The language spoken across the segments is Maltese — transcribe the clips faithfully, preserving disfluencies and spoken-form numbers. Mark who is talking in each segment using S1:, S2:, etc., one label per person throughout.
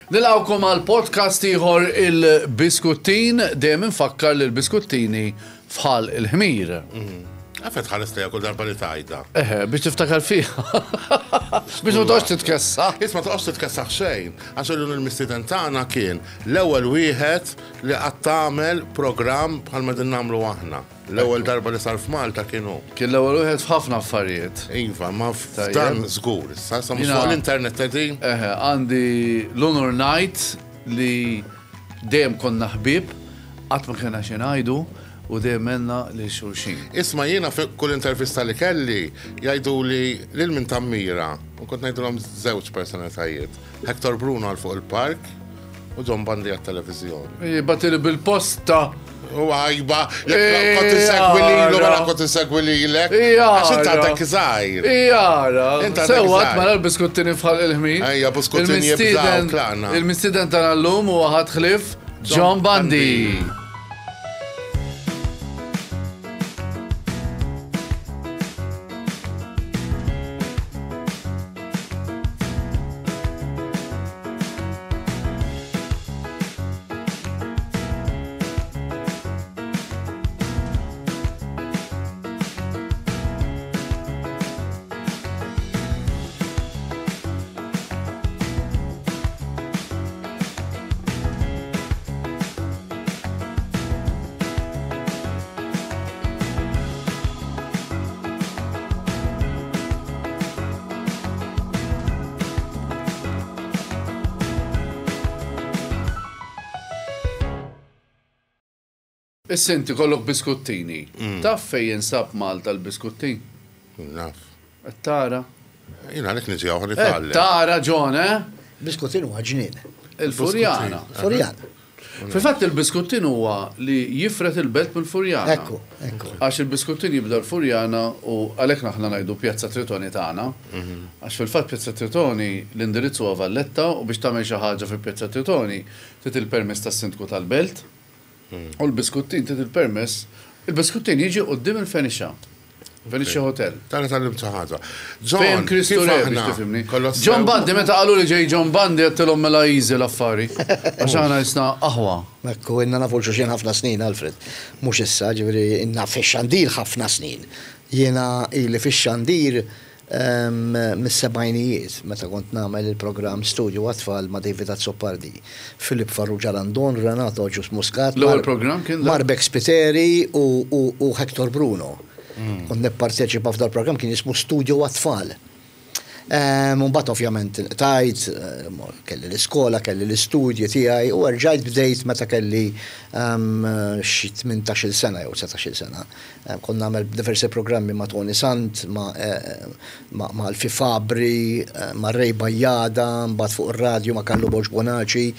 S1: Nilqgħukom għal podcast ieħor il-Biskuttin, dejjem infakkar li l-Biskuttini fħal il-ħmir.
S2: Għafet ħares lejha kull darba li tajda.
S1: Eħe, biex tiftakar fiha. Biex ma toqgħodx titkessa.
S2: Isma' toqgħodx titkessaħ xejn, għax illum il-mistieden tagħna kien l-ewwel wieħed li qatt tagħmel programm bħalma din nagħmlu aħna. L-ewwel darba li sar f'Malta kien hu.
S1: Kien l-ewwel wieħed f'ħafna affarijiet.
S2: Iva, ma f'dan żgur. Issa sa mhux fuq l-internet qegħdin.
S1: Eħe, għandi l-unur ngħid li dejjem konna ħbieb, qatt ma kellna xi ngħidu u dejjem għenna lil xulxin.
S2: Isma' jiena fi kull intervista li kelli jgħidu li lil min tammira u kont ngħidulhom żewġ personalitajiet. Hector Bruno għal fuq il-park u John Bundy għat-televiżjoni.
S1: Batili bil-posta.
S2: U għajba, jekk kont insegwi lilu, mela kont insegwi lilek. Għax inti għadek żgħir.
S1: Jara. Sewwa mela l-biskuttini fħal il-ħmin.
S2: Ejja, biskuttini jibżgħu tlaqna.
S1: Il-mistieden tagħna llum huwa ħadd ħlief John Bundy. Issa inti kollok biskuttini. Taf fejn jinsab Malta l-biskuttin?
S2: Naf.
S1: Qed tara?
S2: Jien għalhekk niġi hawn nitgħallem.
S1: Tara John, eh?
S3: Biskuttin huwa ġnien.
S1: Il-Furjana.
S3: Furjana.
S1: Fil-fatt il-biskuttin huwa li jifret il-belt mill-Furjana.
S3: Ekku, ekku.
S1: Għax il-biskuttin jibda l-Furjana u għalhekk aħna ngħidu Pjazza Tritoni tagħna. Għax fil-fatt Pjazza Tritoni l-indirizz huwa Valletta u biex tagħmel xi ħaġa fi Pjazza Tritoni trid il-permess tas-sindku tal-belt. U l-biskuttin trid il-permess, il-biskuttin jiġi quddiem il-Fenicia. Fenicia Hotel.
S2: Tara tal-lim xi ħaġa.
S1: Fejn Kristu Re biex tifhimni. John Bundy, meta qalu li ġej John Bundy għedtilhom mela easy l-affari. Għax aħna jisna aħwa.
S3: Ekku, inna nafu l-xulxin ħafna snin, Alfred. Mhux issa, ġifieri inna fix-xandir ħafna snin. Jiena ili fix-xandir mis-sebgħinijiet, meta kont nagħmel il-programm Studio għat-tfal ma' David Azzopardi, Filip Farrugia Randon, Renato Ġus Muscat,
S1: L-ewwel programm kien dak?
S3: Marbek Spiteri u Hector Bruno. Kont nipparteċipa f'dal programm kien jismu Studio għat-tfal. Mbagħad ovvjament tajt, kelli l-iskola, kelli l-istudji tiegħi u rġajt bdejt meta kelli xi tmintax-il sena jew dsatax-il sena. Kont nagħmel diversi programmi ma' Tony Sant, ma' Alfi Fabri, ma' Ray Bajjada, mbagħad fuq ir-radju ma' Carlo Borg Bonaci,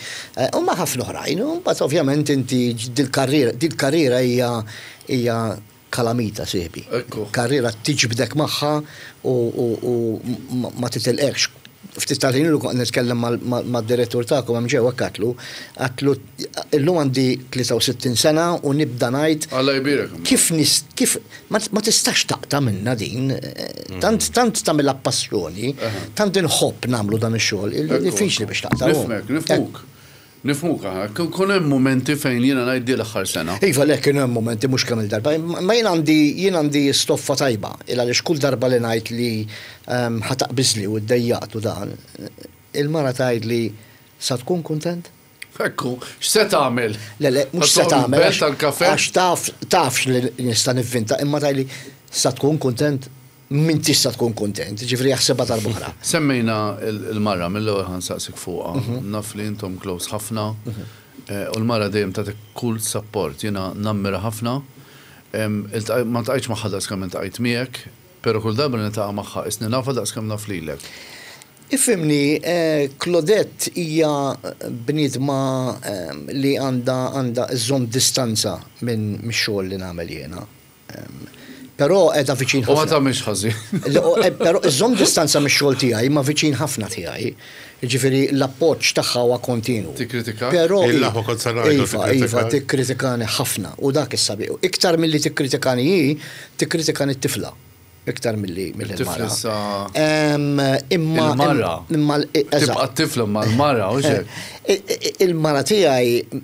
S3: u ma' ħafna oħrajn. U mbagħad ovvjament inti dil-karriera, dil-karriera hija hija kalamita sieħbi.
S1: Ekku.
S3: Karriera tiġbdek magħha u, u, u ma titilqekx. Ftit tal-ħin ilu kont nitkellem mad-direttur tagħkom hemm ġewwa għatlu, għatlu illum għandi tlieta u sittin sena u nibda ngħid
S1: Alla jbierek.
S3: Kif nis, kif ma, ma tistax taqta' minna din, tant, tant tagħmilha passjoni, tant inħobb nagħmlu dan ix-xogħol, diffiċli biex taqta'.
S1: Nifhmek, nifhmuk. Nifhmuk aħna, kun hemm momenti fejn jiena ngħid di l-aħħar sena.
S3: Iva, le, kienu hemm momenti mhux kemm il-darba, ma jien għandi, jien għandi stoffa tajba, il għaliex kull darba li ngħid li ħataqbiżli u ddejjaqt u dan, il-mara tgħid li sa tkun kuntent?
S1: Ekku, x'se tagħmel?
S3: Le, le, mhux se
S1: Ħa
S3: tagħmel,
S1: belt
S3: għax
S1: tal-kafe?
S3: għax taf, tafx li nista' nivvinta, imma tgħidli sa tkun kuntent? Min tista' tkun kuntent, ġifri jaħsebha darb'oħra.
S1: Semmejna il-mara mill-ewwel ħansaqsik fuqha, naf li intom close ħafna, u l-mara dejjem tagħtik kull support, jiena nammira ħafna. Ma ltqajtx magħha daqskemm iltqajt miegħek, però kull darba li niltaqa' magħha isni nafha daqskemm naf lilek.
S3: Ifhimni, Claudette hija bniedma li għandha għandha żżomm distanza minn mix-xogħol li nagħmel jiena. Però qiegħda viċin
S1: U ma
S3: ħafna.
S1: tagħmilx ħażin.
S3: Però iżżomm distanza mix-xogħol tiegħi, ma viċin ħafna tiegħi. Jiġifieri l-appoġġ tagħha huwa kontinu.
S1: Tikkritika?
S3: Però
S2: Il-laħwa kont se ngħidu
S3: Iva,
S2: tikkritika.
S3: iva, tikkritikani ħafna u dak is-sabiħ. Iktar milli tikkritikani hi, tikkritikani t-tifla. Iktar milli mill-mara.
S1: Imma il-mara.
S3: Imma
S1: tibqa' t-tifla ma l-mara u xek.
S3: Il-mara tiegħi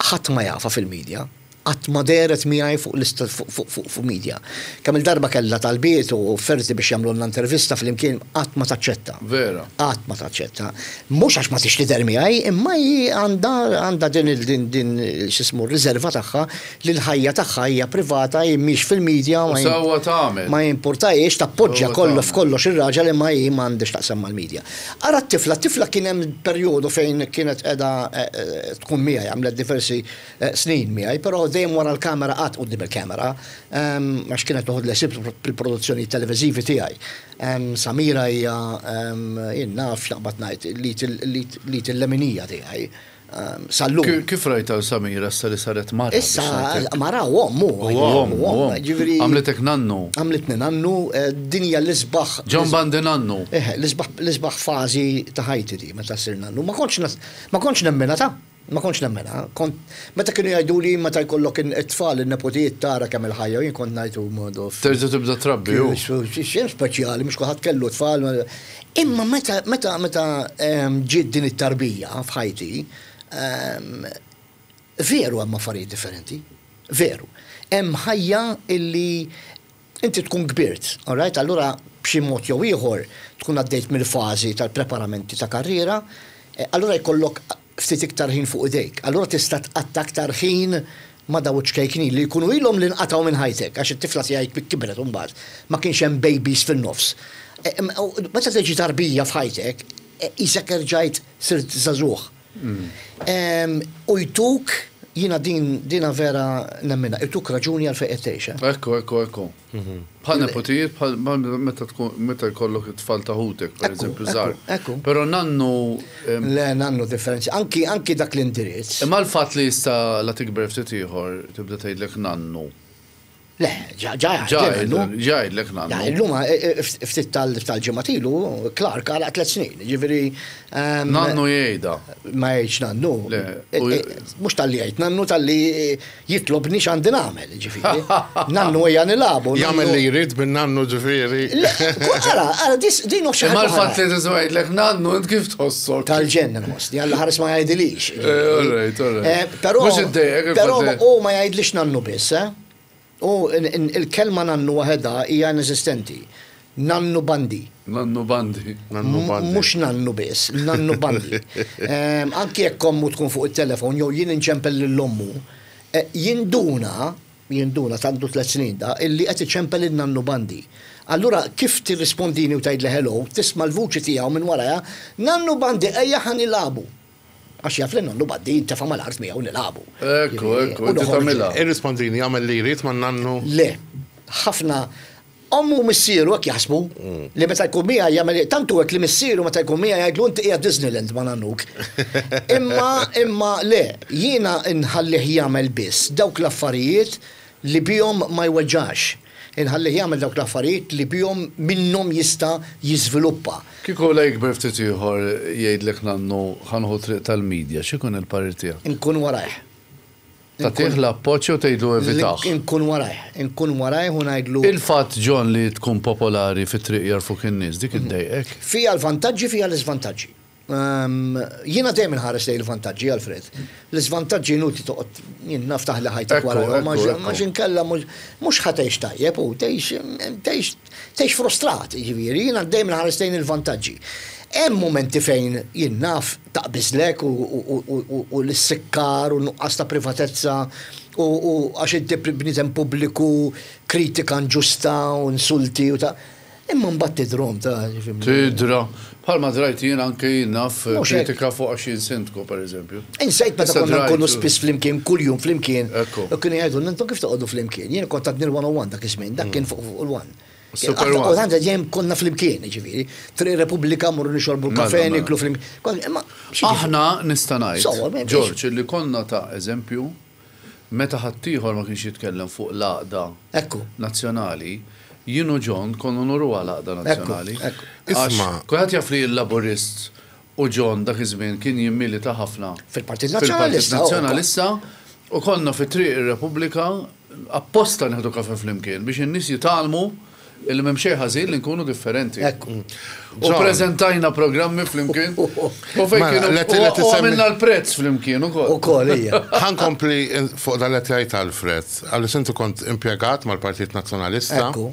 S3: ħadd ma jafa fil-medja. Qatt ma dehret miegħi fuq lista fuq media. Kemm il-darba kellha talbiet u offerti biex jagħmlu intervista flimkien, qatt ma taċċetta.
S1: Vera.
S3: Qatt ma taċċetta. Mhux għax ma tix tidher miegħi, imma hi għandha għandha din din din x'ismu riserva tagħha li l-ħajja tagħha hija privata, hi mhix fil-media.
S1: Ma sewwa tagħmel.
S3: Ma jimpurtajiex, tappoġġja kollu f'kollox ir-raġel, imma hi m'għandix taqsam mal-media. Ara t-tifla, t-tifla kien hemm perjodu fejn kienet qiegħda tkun miegħi, għamlet diversi snin miegħi, però dejjem wara l-kamera, qatt quddiem il-kamera, għax kienet toħod l-ħsieb fil-produzzjoni televiżivi tiegħi. Samira hija, jien naf x'naqbad ngħid, li til-leminija tiegħi. Sallum.
S1: Kif rajta Samira issa li saret mara?
S3: Issa mara u ommu.
S1: Ġifieri. Għamlitek nannu.
S3: Għamlitni nannu, din hija l-isbaħ.
S1: John Bandi nannu.
S3: Eh, l-isbaħ fażi ta' ħajti di meta ssir nannu. Ma kontx ma kontx nemmena ta' Ma kontx nemmena. Kont meta kienu jgħidu li meta jkollok it-tfal, in-nepotijiet, tara kemm il-ħajja, jien kont ngħidu modu.
S1: Terġa' tibda trabbi.
S3: Xejn speċjali, mhux kulħadd kellu tfal. Imma meta meta meta ġiet din it-tarbija f'ħajti, veru hemm affarijiet differenti. Veru. Hemm ħajja illi inti tkun kbirt, all right? Allura b'xi mod jew ieħor tkun għaddejt mill-fażi tal-preparamenti ta' karriera, allura jkollok ftit iktar ħin fuq idejk. Allura tista' tqatta' aktar ħin ma' daw ċkejknin li jkunu ilhom li nqatgħu minn ħajtek, għax it-tifla tiegħi kibret imbagħad, ma kienx hemm babies fin-nofs. Meta tiġi tarbija f'ħajtek, isek erġajt sirt żagħżugħ. U jtuk, jiena din dina vera nemmina, jtuk raġuni għal fejn qed tgħix.
S1: Ekku, ekku, ekku. Bħal nepotijiet, bħal meta tkun meta jkollok it-tfal ta' ħutek, per eżempju, żgħar. Però nannu.
S3: Le, nannu differenzi. Anki anki dak l-indirizz.
S1: Imma l-fatt li jista' la tikber ftit ieħor tibda tgħidlek nannu.
S3: Le, ġa ġa
S1: jgħidlek nannu.
S3: Illum ftit tal-ġimgħat ilu, Clark għalaq tliet snin, ġifieri.
S1: Nannu jgħidha.
S3: Ma jgħidx nannu. Mhux talli jgħid nannu, talli jitlobni x'għandi nagħmel, ġifieri. Nannu ejja nilagħbu.
S2: Jagħmel li jrid bin nannu, ġifieri.
S3: Ara, ara, din xi
S1: Imma l-fatt li tisma' jgħidlek nannu, int kif tħossok?
S3: Tal-ġenn nħossni, Alla ħares ma jgħidilix.
S1: All right, all right.
S3: Però Però u ma jgħidlix nannu biss, eh? U il-kelma nannu waħedha hija inesistenti. Nannu Bandi.
S1: Nannu Bandi.
S2: Nannu Bandi.
S3: Mhux nannu biss, nannu Bandi. Anki jekk ommu tkun fuq it-telefon jew jien inċempel lil ommu, jinduna, jinduna tandu tliet snin da, illi qed iċempel il-nannu Bandi. Allura kif tirrispondini u tgħidli hello, tisma' l-vuċi tiegħu minn warajha, "Nannu Bandi, ejja ħa nilagħbu." Għax jaf li nannu Bandi jintefa' mal-art miegħu nilagħbu.
S1: Ekku, ekku, inti tagħmilha.
S2: Irrispondini, jagħmel li jrid ma' nannu.
S3: Le, ħafna ommu missieru hekk jaħsbu li meta jkun miegħi jagħmel, tantu hekk li missieru meta jkun miegħi jgħidlu, "Inti qiegħed Disneyland ma' nannuk." Imma imma le, jiena nħallih jagħmel biss dawk l-affarijiet li bihom ma jweġġax. Inħallih jagħmel dawk l-affarijiet li bihom minnhom jista' jiżviluppa.
S1: Kieku la jikber ftit ieħor jgħidlek, "Nannu, ħa nieħu triq tal-medja," x'ikun il-parir tiegħek?
S3: Inkun warajh.
S1: Tagħtih l-appoġġ u tgħidlu evitah.
S3: Inkun warajh, inkun warajh u ngħidlu.
S1: Il-fatt, John, li tkun popolari fit-triq jagħrfuk in-nies, dik iddejqek?
S3: Fija l-vantaġġi, fija l-iżvantaġġi. Jiena dejjem inħares lejn il-vantaġġi, Alfred. L-iżvantaġġi inutli toqgħod, jien naf, taħli ħajtek wara, ma inkella mhux ħa tgħix tajjeb u tgħix tgħix frustrat, jiġifieri, jiena dejjem inħares lejn il-vantaġġi. Hemm momenti fejn jien naf taqbiżlek u l-sikkar u nuqqas ta' privatezza u għax inti bniedem pubbliku, kritika inġusta u insulti u ta' imma mbagħad tidrom ta'
S1: Tidra. Bħalma drajt jien anke jien naf kritika fuq għax jien sindku, per eżempju.
S3: Insejt meta konna nkunu spiss flimkien, kuljum flimkien. U kienu jgħidu, "Intom kif toqgħodu flimkien?" Jien kont għadni l-one oh one dak iż-żmien, dak kien fuq il-one.
S1: Super.
S3: U għandha dejjem konna flimkien, ġifieri. Triq Repubblika morru nixorbu l-kafe, niklu flimkien.
S1: Aħna nista' ngħid, George, li konna ta' eżempju meta ħaddieħor ma kienx jitkellem fuq l-għaqda nazzjonali, jien u John konna nuru għal-għaqda nazzjonali.
S2: Isma'.
S1: Kulħadd jaf li l-Laburist u John dak iż-żmien kien jimmilita ħafna
S3: fil-Partit Nazzjonalista.
S1: Nazzjonalista u konna fi Triq ir-Repubblika apposta nieħdu kafe flimkien biex in-nies jitgħallmu Illi m'hemm xejn ħażin li nkunu differenti.
S3: Ekku.
S1: U prezentajna programmi flimkien. U fejn
S2: Mela,
S1: kienu
S2: let- let
S1: u
S2: isemmi-
S1: għamilna l-prezz flimkien ukoll.
S3: U kol, ija.
S2: Ħa nkompli fuq dan li tgħid Alfred, għaliex inti kont impjegat mal-Partit Nazzjonalista.
S3: Ekku.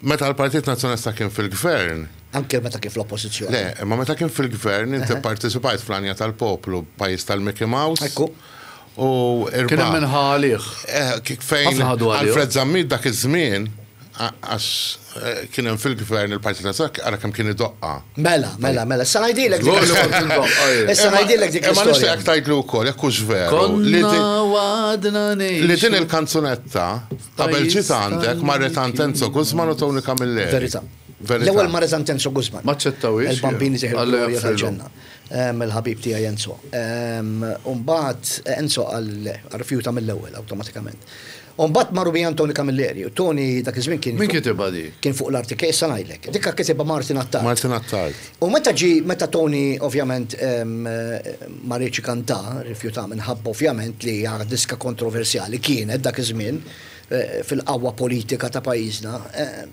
S2: Meta l-Partit Nazzjonalista kien fil-gvern,
S3: Anke meta kif l-oppozizjoni.
S2: le, imma meta kien fil-gvern inti parteċipajt fl-Għanja tal-Poplu, pajjiż tal-Mickey Mouse.
S3: Ekku.
S2: U
S1: Kien hemm
S2: irbaħ.
S1: min ħa għalih.
S2: Eh, kif fejn
S1: Ħafna ħadu għalih.
S2: Alfred Zammit dak iż-żmien a- għax eh, kien hemm fil-gvern il-Partit Nazzjonalista ara kemm kien idoqqa.
S3: Mela, mela, mela. Issa ngħidilek
S1: Żgur li
S3: dik
S1: kont indoqqa jien.
S3: Issa ngħidilek dik
S2: Imma
S3: l-istorja.
S2: nixtieq tgħidlu wkoll jekk hux veru li
S1: Konna
S2: din-
S1: għadna
S2: li din il-kanzunetta qabel
S1: Pajjiż
S2: ġiet għandek marret għand Enzo Guzman u Tony Camilleri.
S3: Verità.
S2: Verità.
S3: L-ewwel marret għand Enzo Guzman.
S1: Ma ċċettawhiex,
S3: Il-bambini seħir
S1: Alla
S3: glorja
S1: jaghfirlu.
S3: tal-ġenna. Em, Il-ħabib tiegħi Enzo. Em, Umbagħad Enzo qal rifjuta mill-ewwel awtomatikament. Umbagħad marru bi Tony Camilleri. U Tony dak iż-żmien kien
S1: Min kitibha di?
S3: kien fuq l-R T K, issa ngħidlek. Dikka kitibha Martin Attard.
S2: Martin Attard.
S3: U meta ġi, meta Tony ovvjament em, eh, ma riedx kanta, rifjuta minħabba ovvjament li hija diska kontroversjali kienet dak iż-żmien eh, fil-qawwa politika ta' pajjiżna. eh,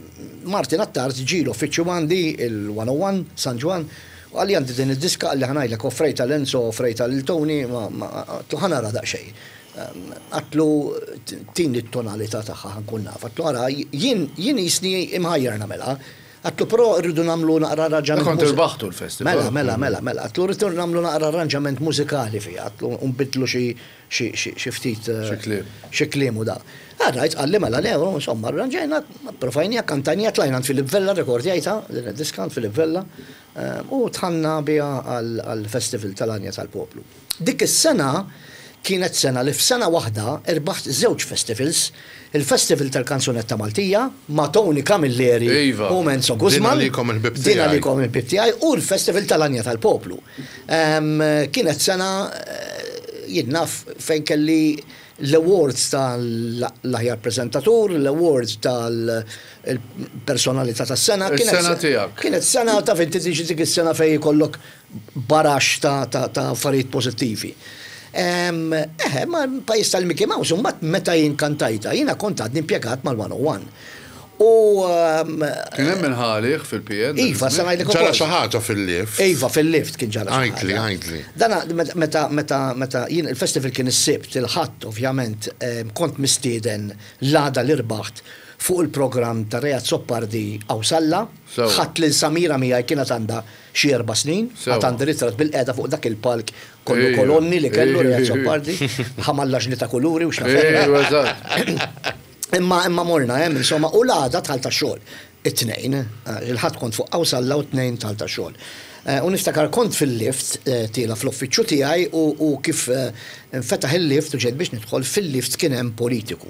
S3: Martin Attard ġi l-uffiċċju għandi il-mija u wieħed San Ġwann, u qalli għandi din id-diska, qalli ħa ngħidlek offrejtha 'l Enzo, offrejtha 'l Tony, ma għedtlu ħa nara daqsxejn. Għedtlu tini t-tonalità tagħha ħa nkun naf. Għedtlu ara jien jien jisni imħajjar nagħmilha. Għedtlu però rridu nagħmlu naqra arranġament.
S1: Kont
S3: mużi-
S1: irbaħtu l-festival.
S3: Mela, mela, mela, mela. Għedtlu rridu nagħmlu naqra arranġament mużikali fiha. Għedtlu nbiddlu xi xi xi xi ftit eh,
S1: Xi kliem.
S3: xi kliem u da. Għarrajt, qalli mela le, insomma, arranġajna, provajnija, kantajnija, tlajna għand Filip Vella, rekordjajta, din id-diska għand Filip Vella, eh, u dħalna biha għal-festival tal-Għanja tal-Poplu. Dik is-sena kienet sena li f'sena waħda irbaħt żewġ festivals, il-Festival tal-Kanzunetta Maltija ma' Tony Camilleri
S1: Iva.
S3: u Enzo Guzman.
S2: Din għalikom il-ħbieb
S3: Din
S2: tiegħi.
S3: għalikom il-ħbieb tiegħi u l-Festival tal-Għanja tal-Poplu. Em, Kienet sena eh, jien naf fejn kelli l-awards tal-aħjar prezentatur, l-awards tal-personalità tas-sena. Kienet
S1: Is-sena
S3: se-
S1: tiegħek.
S3: Kienet sena ta' fejn tiġi dik is-sena fejn jkollok barax ta' ta' ta' affarijiet pożittivi. Em, Eħe, ma pajjiż tal-Mickey Mouse, mbagħad meta jien kantajta, jiena kont għadni impjegat mal-mija u wieħed. U em,
S1: Kien hemm min ħa għalih fil-P N.
S3: Iva, sa ngħidlek
S2: Ġara
S3: ukoll.
S2: xi ħaġa fil-lift.
S3: Iva, fil-lift kien ġara xi
S2: Għidli,
S3: ħaġa.
S2: Għidli.
S3: Dana, meta, meta, meta, jien il-festival kien is-Sibt, il-Ħadd, ovvjament, em, kont mistieden l-għada li rbaħt fuq il-programm ta' Ray Azzopardi Qawsalla,
S1: Sewa.
S3: ħadt lil Samira miegħi, kienet għandha xi erba' snin,
S1: Sewa.
S3: għad għandi ritratt bilqiegħda fuq dak il-palk kollu
S1: Ejja.
S3: kolonni li kellu
S1: Ejja.
S3: Ray Azzopardi, ħamallaġni ta' kuluri u x'naf.
S1: Ejwa, eżatt.
S3: Imma imma morna hemm insomma u l-għada dħalt tax-xogħol. It-Tnejn, eh, il-Ħadd kont fuq Qawsalla u t-Tnejn dħalt tax-xogħol. Eh, U niftakar kont fil-lift eh, tiela fl-uffiċċju tiegħi u u kif eh, nfetaħ il-lift u ġejt biex nidħol fil-lift kien hemm politiku.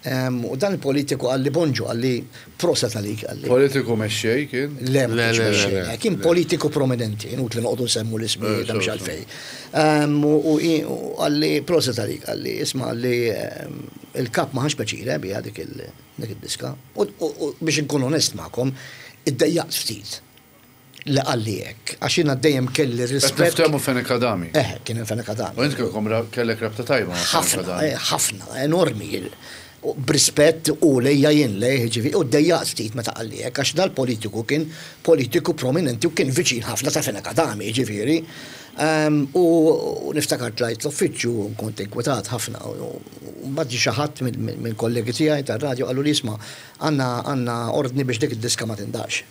S3: Em, U dan il-politiku qalli bonġu, qalli proset għalik, qalli.
S1: Politiku mexxej kien.
S3: Le, ma
S2: Le,
S3: kienx
S2: le, le,
S3: mexxej,
S2: le.
S3: kien politiku prominenti, inutli noqogħdu nsemmu l-ismijiet
S1: Eh,
S3: mhux
S1: so,
S3: għalfejn. Em, U u- u qalli proset għalik, qalli isma' qalli em, il-kap ma ħax pjaċir biha dik il- dik id-diska. U u- u biex inkun onest magħkom, iddejjaqt ftit li qalli hekk, għax jiena dejjem kelli
S1: Qed
S3: rispett.
S1: niftehmu Fenech Adami.
S3: Eh, kien Fenech Adami.
S1: U int kellkom ra- kellek rabta tajba ma' Fenech
S3: ħafna,
S1: Adami.
S3: eh, ħafna, enormi. U b'rispett u lejja jien lej, ġifi, u ddejjaqt ftit meta qalli hekk, għax dal-politiku kien politiku prominenti u kien viċin ħafna ta' Fenech Adami, ġifieri. Em, U u niftakar tlajt l-uffiċċju u kont inkwetat ħafna. U mbagħad ġie xi ħadd minn minn kollegi tiegħi tar-radio qalu li isma' għandna għandna ordni biex dik id-diska ma tindaqqx.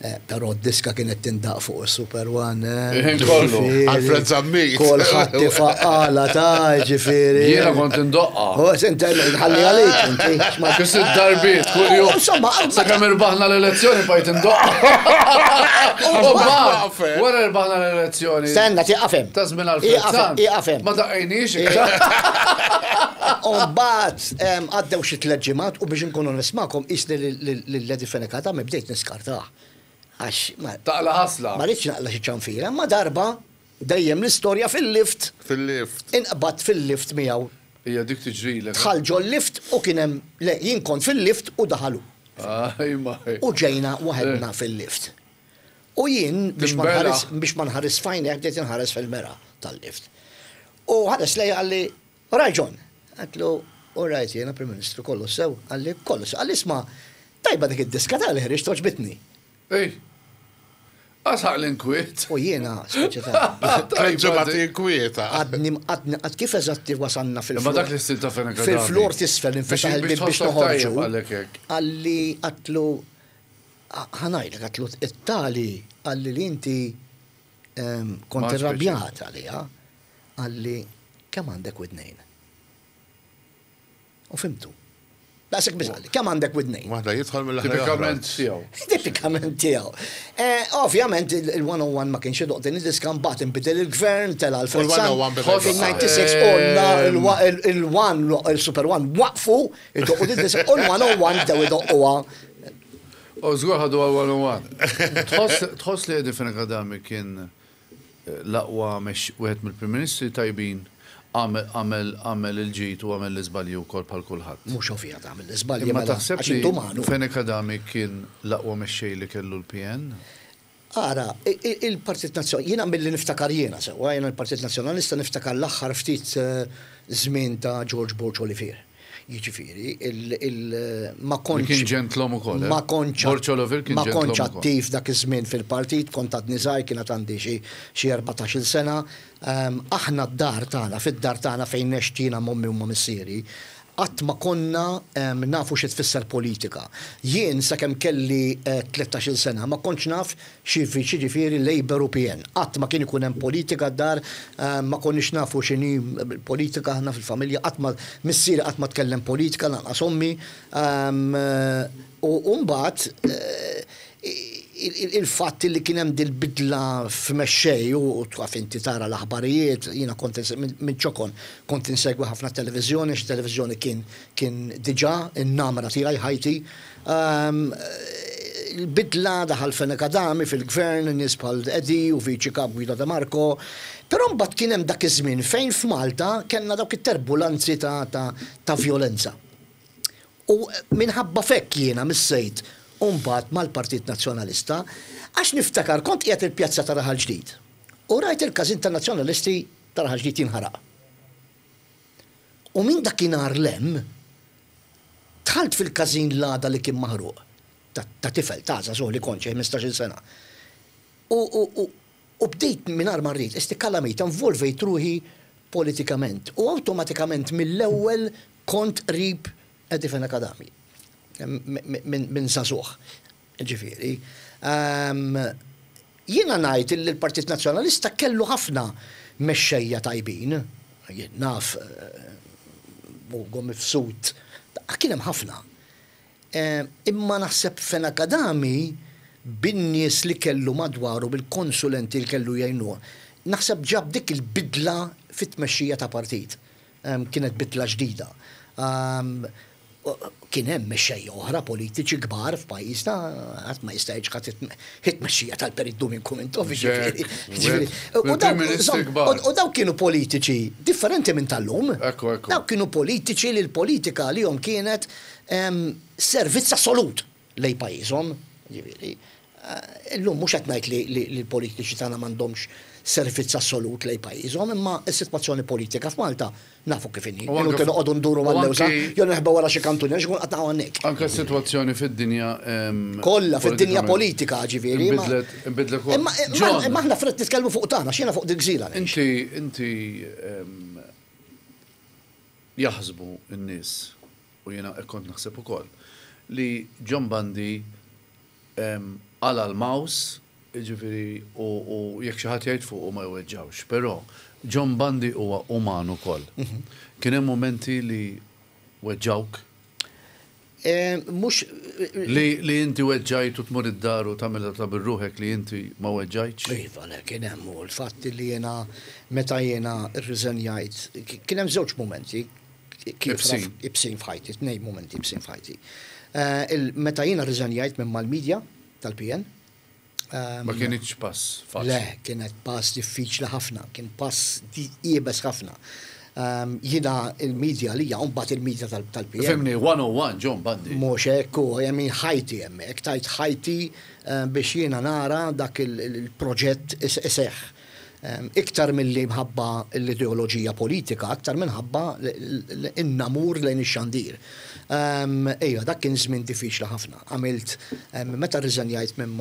S3: Eh, Però d-diska kienet tindaqq fuq il-Super One. eh,
S1: Il-ħin kollu.
S3: ġifieri.
S2: Alfred Zammit.
S3: Kulħadd tifaqqala ta' ġifieri.
S1: Jiena kont indoqqa.
S3: Oh, senta, ħalli għalik, inti. x'ma-
S1: Kis id-darbiet, kull jum.
S3: Insomma,
S1: Sa kemm irbaħna l-elezzjoni bqajt indoqqa. U mbagħad, wara irbaħna l-elezzjoni.
S3: Stenna, tiqafem.
S1: Ta' żmien Alfred Sant.
S3: Iqafem.
S1: Ma daqqejniex.
S3: Umbagħad, għaddew xi tliet ġimgħat u biex nkunu nismakom isni lil Eddie Fenech Adami bdejt niskartah. Għax ma
S1: Taqla ħasla.
S3: ma rridx naqla xi ċanfira, ma darba dejjem l-istorja fil-lift,
S2: Fil-lift.
S3: inqbad fil-lift miegħu.
S1: Hija dik tiġrilek.
S3: Dħal ġol lift u kien hemm le jien kont fil-lift u daħalu.
S1: Aj, ma.
S3: U ġejna waħedna fil-lift. U jien biex ma
S1: Timbela.
S3: nħares biex ma nħares f'għajnejh bdejt inħares fil-mera tal-lift. U ħares lejja qalli, "Right John." Għedtlu, "All right, jiena Prim Ministru, kollu sew." Qalli, "Kollu sew." Qalli, "Isma', Tajba dik id-diska tal ħriġt, għoġbitni.
S1: Ej, għasaq l-inkwiet.
S3: U jiena, speċi ta'
S2: Tliet ġimgħat inkwieta.
S3: Għadni, għadni, għad kif eżatti wasanna fil-flor.
S1: Imma dak l-istil ta' Fenech Adami.
S3: Fil-flor t'isfel, infetaħ il-bib biex
S1: tħossok
S3: noħorġu.
S1: tajjeb għalek hekk.
S3: Għalli għatlu, ħa ngħidlek, għatlu it-tali, għalli li inti em, kont
S1: Ma speċi.
S3: irrabjat għalija, għalli kemm għandek widnejn? U fhimtu. Daqshekk biss għalli, kemm għandek widnejn?
S2: Waħda jidħol mill-aħħar.
S1: Tipikament tiegħu.
S3: Tipikament tiegħu. Eh, Ovvjament il-one oh one ma kienx idoq din id-diska, mbagħad inbidel il-gvern, tela l
S2: U l-one oh one beda
S3: Fil-disgħa u disgħin onna il-one, il-Super One waqfu idoqqu din id-diska u l-one oh one bdew idoqquha.
S1: U żgur ħadu għal one oh one. Tħoss tħoss li Eddie Fenech Adami kien eh, l-aqwa mex wieħed mill-Prim Ministri tajbin, għamel għamel għamel il-ġid u għamel l-iżbalji wkoll bħal kulħadd?
S3: Mhux ovvja tagħmel l-iżbalji
S1: Imma
S3: mela,
S1: taħseb
S3: għax
S1: li
S3: intu umanu.
S1: Fenech Adami kien l-aqwa mexxej li kellu l-P N?
S3: Ara, i- i- il-Partit Nazzjonali, jiena mill-li niftakar jiena sewwa, jiena l-Partit Nazzjonalista niftakar l-aħħar ftit eh, żmien ta' George Borg Olivier. Jiġifieri, il, il, ma kontx.
S1: Li kien ġentlom ukoll, eh?
S3: Ma kontx.
S1: Borg Olivier kien
S3: Ma
S1: ġentlom
S3: kontx
S1: ukoll.
S3: attiv dak iż-żmien fil-partit, kont għadni żgħir, kienet għandi xi xi erbatax-il sena. Ehm, aħna d-dar tagħna, fid-dar tagħna fejn nextina m'ommi u ma' missieri, qatt ma konna ehm, nafu xi tfisser politika. Jien sakemm kelli eh, tlettax-il sena ma kontx naf xi ġifieri Labour u P N. Qatt ma kien ikun hemm politika d-dar, ehm, ma konniex nafu x'inhi politika aħna fil-familja, qatt ma missieri qatt ma tkellem politika, lanqas ommi. Ehm, eh, U mbagħad eh, il-fatt li kien hemm dil-bidla f'mexxej u taf inti tara l-aħbarijiet, jiena kont minn ċokon kont insegwi ħafna televiżjoni, x televiżjoni kien kien diġà in-namra tiegħi ħajti. Ehm, Il-bidla daħal Fenech Adami fil-gvern, nies bħal Eddie u viċi kap Guido De Marco, però mbagħad kien hemm dak iż-żmien fejn f'Malta kellna dawk it-turbulenzi ta' ta' ta' violenza. U minħabba fekk jiena missejt mbagħad mal-Partit Nazzjonalista, għax niftakar kont qiegħed il-pjazza ta' Raħal Ġdid. U rajt il-każin ta' Nazzjonalisti ta' Raħal Ġdid jinħaraq. U minn dakinhar lem, dħalt fil-każin l-għada li kien maħruq. Ta' ta' tifel, ta' żagħżugħ li kont xi ħmistax-il sena. U, u, u, u bdejt mingħajr ma rrid, istikalamita, involvejt ruħi politikament. U awtomatikament mill-ewwel kont qrib Eddie Fenech Adami. Minn min żagħżugħ. Ġifieri. Um, jiena ngħid li l-Partit Nazzjonalista kellu ħafna mexxejja tajbin. Jien naf eh, Ugo Mifsud, kien hemm ħafna. Eh, Imma naħseb Fenech Adami bin-nies li kellu madwaru, bil-konsulenti li kellu jgħinuh, naħseb ġab dik il-bidla fit-tmexxija ta' partit. Em, Kienet bidla ġdida. Em, Kien hemm mexxejja oħra politiċi kbar f'pajjiżna, ħadd ma jista' jiġħad it-tmexxija tal-Perit Duminku Mintoff,
S1: Jack,
S3: ġifieri.
S1: wet,
S3: U dawk-
S1: mill-Prim Ministri kbar.
S3: U dawk kienu politiċi differenti minn tal-lum.
S1: Ekku, ekku.
S3: Dawk kienu politiċi li l-politika li jom kienet em, servizz assolut lej pajjiżhom. Ġifieri, eh, illum mhux qed ngħid li li li l-politiċi tagħna m'għandhomx servizz assolut lej pajjiżhom, imma s-sitwazzjoni politika f'Malta nafu kif inhi.
S1: U anke-
S3: Inutli noqogħdu nduru
S1: u
S3: mal-lewża,
S1: anki-
S3: jew neħba wara xi kantuniera x'ikun qatt hawnhekk.
S1: Anka s-sitwazzjoni fid-dinja em,
S3: Kollha fid-dinja
S1: politikament
S3: politika ġifieri. ma-
S1: Inbidlet, inbidlet ukoll.
S3: Imma imma
S1: John,
S3: imma aħna fred nitkellmu fuq tagħna, x'jiena fuq dik gżira ngħix.
S1: Inti, inti em, jaħsbu n-nies, u jiena kont naħseb ukoll, li John Bundy em, għala l-mouse, ġifieri, u, u jekk xi ħadd jgħid fuq u ma jweġġawx, però John Bundy huwa uman ukoll. Kien hemm momenti li weġġawk,
S3: Eh, Mhux
S1: li, li inti weġġajt u tmur id-dar u tagħmilha ta' bir-ruħek li inti ma weġġajtx.
S3: Iva, le, kien hemm u l-fatt li jiena meta jiena rriżenjajt, kien hemm żewġ momenti kif
S1: Ibsin.
S3: Ibsin f'ħajti, tnejn momenti ibsin f'ħajti. Eh, il- Meta jiena rriżenjajt minn mal-medja tal-P N. ehm,
S1: Ma kienx pass faċli.
S3: Le, kienet pass diffiċli ħafna, kien pass di- iebes ħafna. Um, Jiena il-medja li mbagħad il-medja tal- tal-P N.
S1: Fhimni, one oh one, John Bundy.
S3: Mhux hekk, u jemmin ħajti hemmhekk, tajt ħajti eh, biex jiena nara dak il- il- il-proġett is- iseħħ. Iktar milli mħabba l-ideoloġija politika, aktar minħabba in-namur lejn ix-xandir. Ejja, dak kien żmien diffiċli ħafna. Għamilt, meta rriżenjajt minn